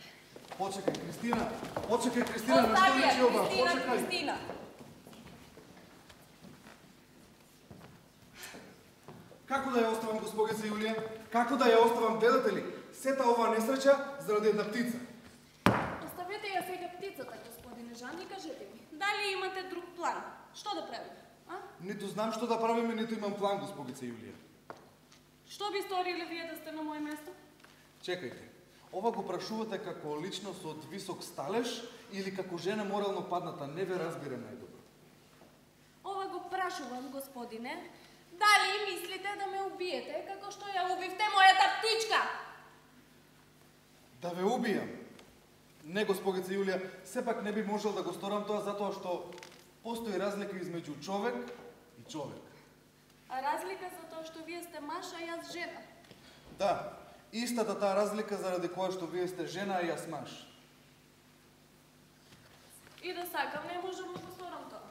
Почекај, Кристина! Почекај, Кристина! На што Остави ја, личи ова? Кристина, Почекај! Кристина! Како да ја оставам, госпогица Јулија? Како да ја оставам, гледате ли? Сета оваа несреќа заради една птица. Оставете ја сега птицата, господине Жан, и кажете ми, дали имате друг план? Што да правим, а? Ниту знам што да правиме, ниту имам план, госпогица Јулија. Што би сториле вие да сте на моје место? Чекајте. Ова го прашувате како личност од висок сталеж или како жена морално падната? Не ве разбирам најдобро. Ова го прашувам, господине, дали мислите да ме убиете како што ја убивте мојата птичка? Да ве убијам? Не, госпогица Јулија, сепак не би можел да го сторам тоа затоа што постои разлика измеѓу човек и човек. А разлика за тоа што вие сте маж, а јас жена. Да, истата таа разлика заради која што вие сте жена, а јас маж. И да сакам, не можам да го сторам тоа.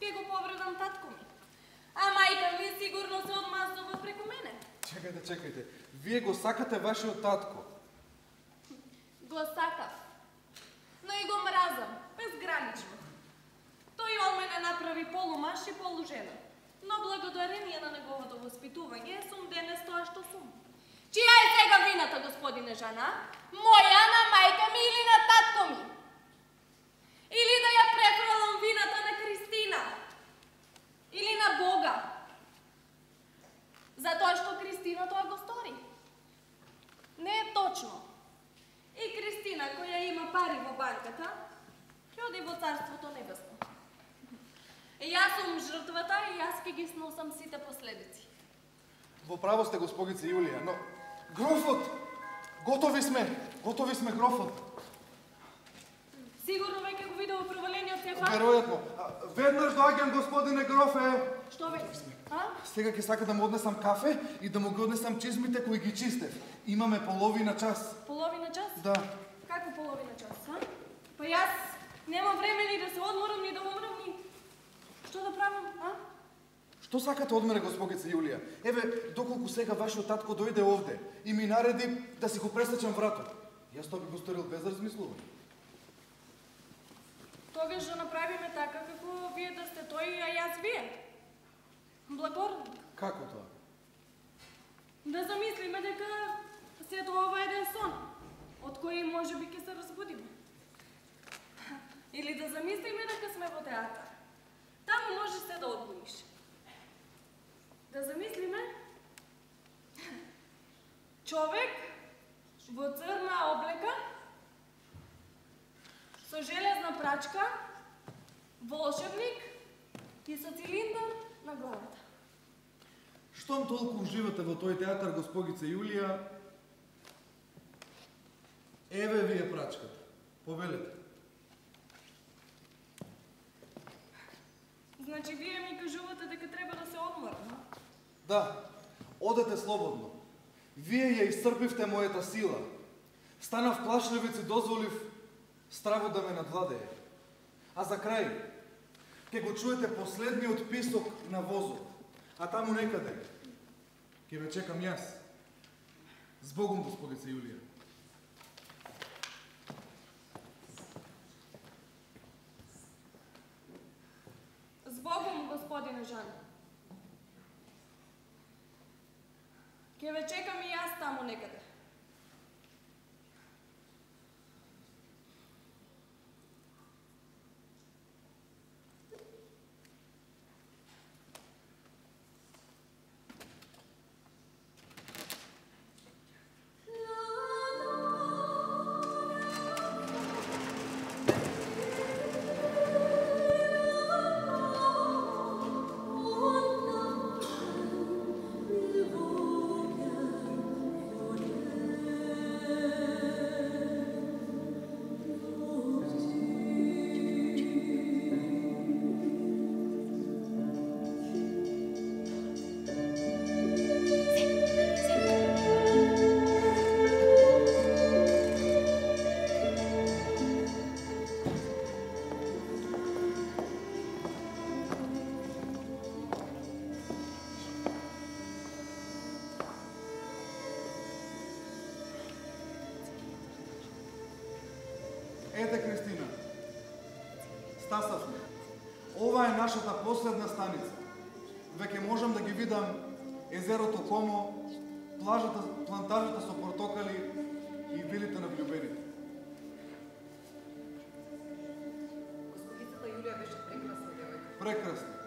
Ке го повредам татко ми. А мајка ми сигурно се одмазнува преку мене. Чекајте, чекајте. Вие го сакате вашиот татко. Го сакав. Но и го мразам, безгранично. Тој од мене направи полумаш и полужена. Но благодарение на неговото воспитување сум денес тоа што сум. Чија е сега вината, господине Жана? Моја, на мајка ми или на татко ми? Или да ја префрлам вината на Кристина? Или на Бога? Затоа што Кристина тоа го стори. Не е точно. И Кристина, која има пари во банката, ќе оди во Царството Небесно. И јас сум жртвата и јас ќе ги сносам сите последици. Во право сте, госпогице Јулија, но... Грофот! Готови сме! Готови сме, грофот! Сигурно веќе го видел провалениот Стефан? Веројатно. А, Веднаш доаѓам, господине грофе! Што веќе сме? А? Сега ќе сака да му однесам кафе и да му ги однесам чизмите кои ги чистев. Имаме половина час. Половина час? Да. Како половина час, а? Па јас немам време ни да се одморам, ни да умрам, ни... Што да правам, а? Што сакате од мене, госпогице Јулија? Еве, доколку сега вашиот татко дојде овде и ми нареди да си го пресечам вратот. Јас тоа би го сторил без размислување. Тогаш да направиме така како вие да сте тој, а јас вие. Благородник. Како тоа? Да замислиме дека сето ова е еден сон, од кој може би ќе се разбудиме. Или да замислиме дека сме во театар. Таму може се да одбуниш. Да замислиме човек во црна облека со железна прачка, волшебник и со цилиндар на главата. Штом толку уживате во тој театар, госпогице Јулија, еве ви е прачката. Повелете. Значи, вие ми кажувате дека треба да се одморам, а? Да, одете слободно. Вие ја исцрпивте мојата сила. Станав плашливец и дозволив стравот да ме надвладее. А за крај, ќе го чуете последниот писок на возот, а таму некаде ќе ве чекам јас. Збогом, госпогице Јулија. Збогом, господине Жан. Ќе ве чекам и јас таму некаде. Ете, Кристина, стасавме. Ова е нашата последна станица. Веќе можам да ги видам езерото Комо, плажата, плантажата со портокали и вилите на влюбените. Госпогицата Јулија беше прекрасна девојка. Прекрасно.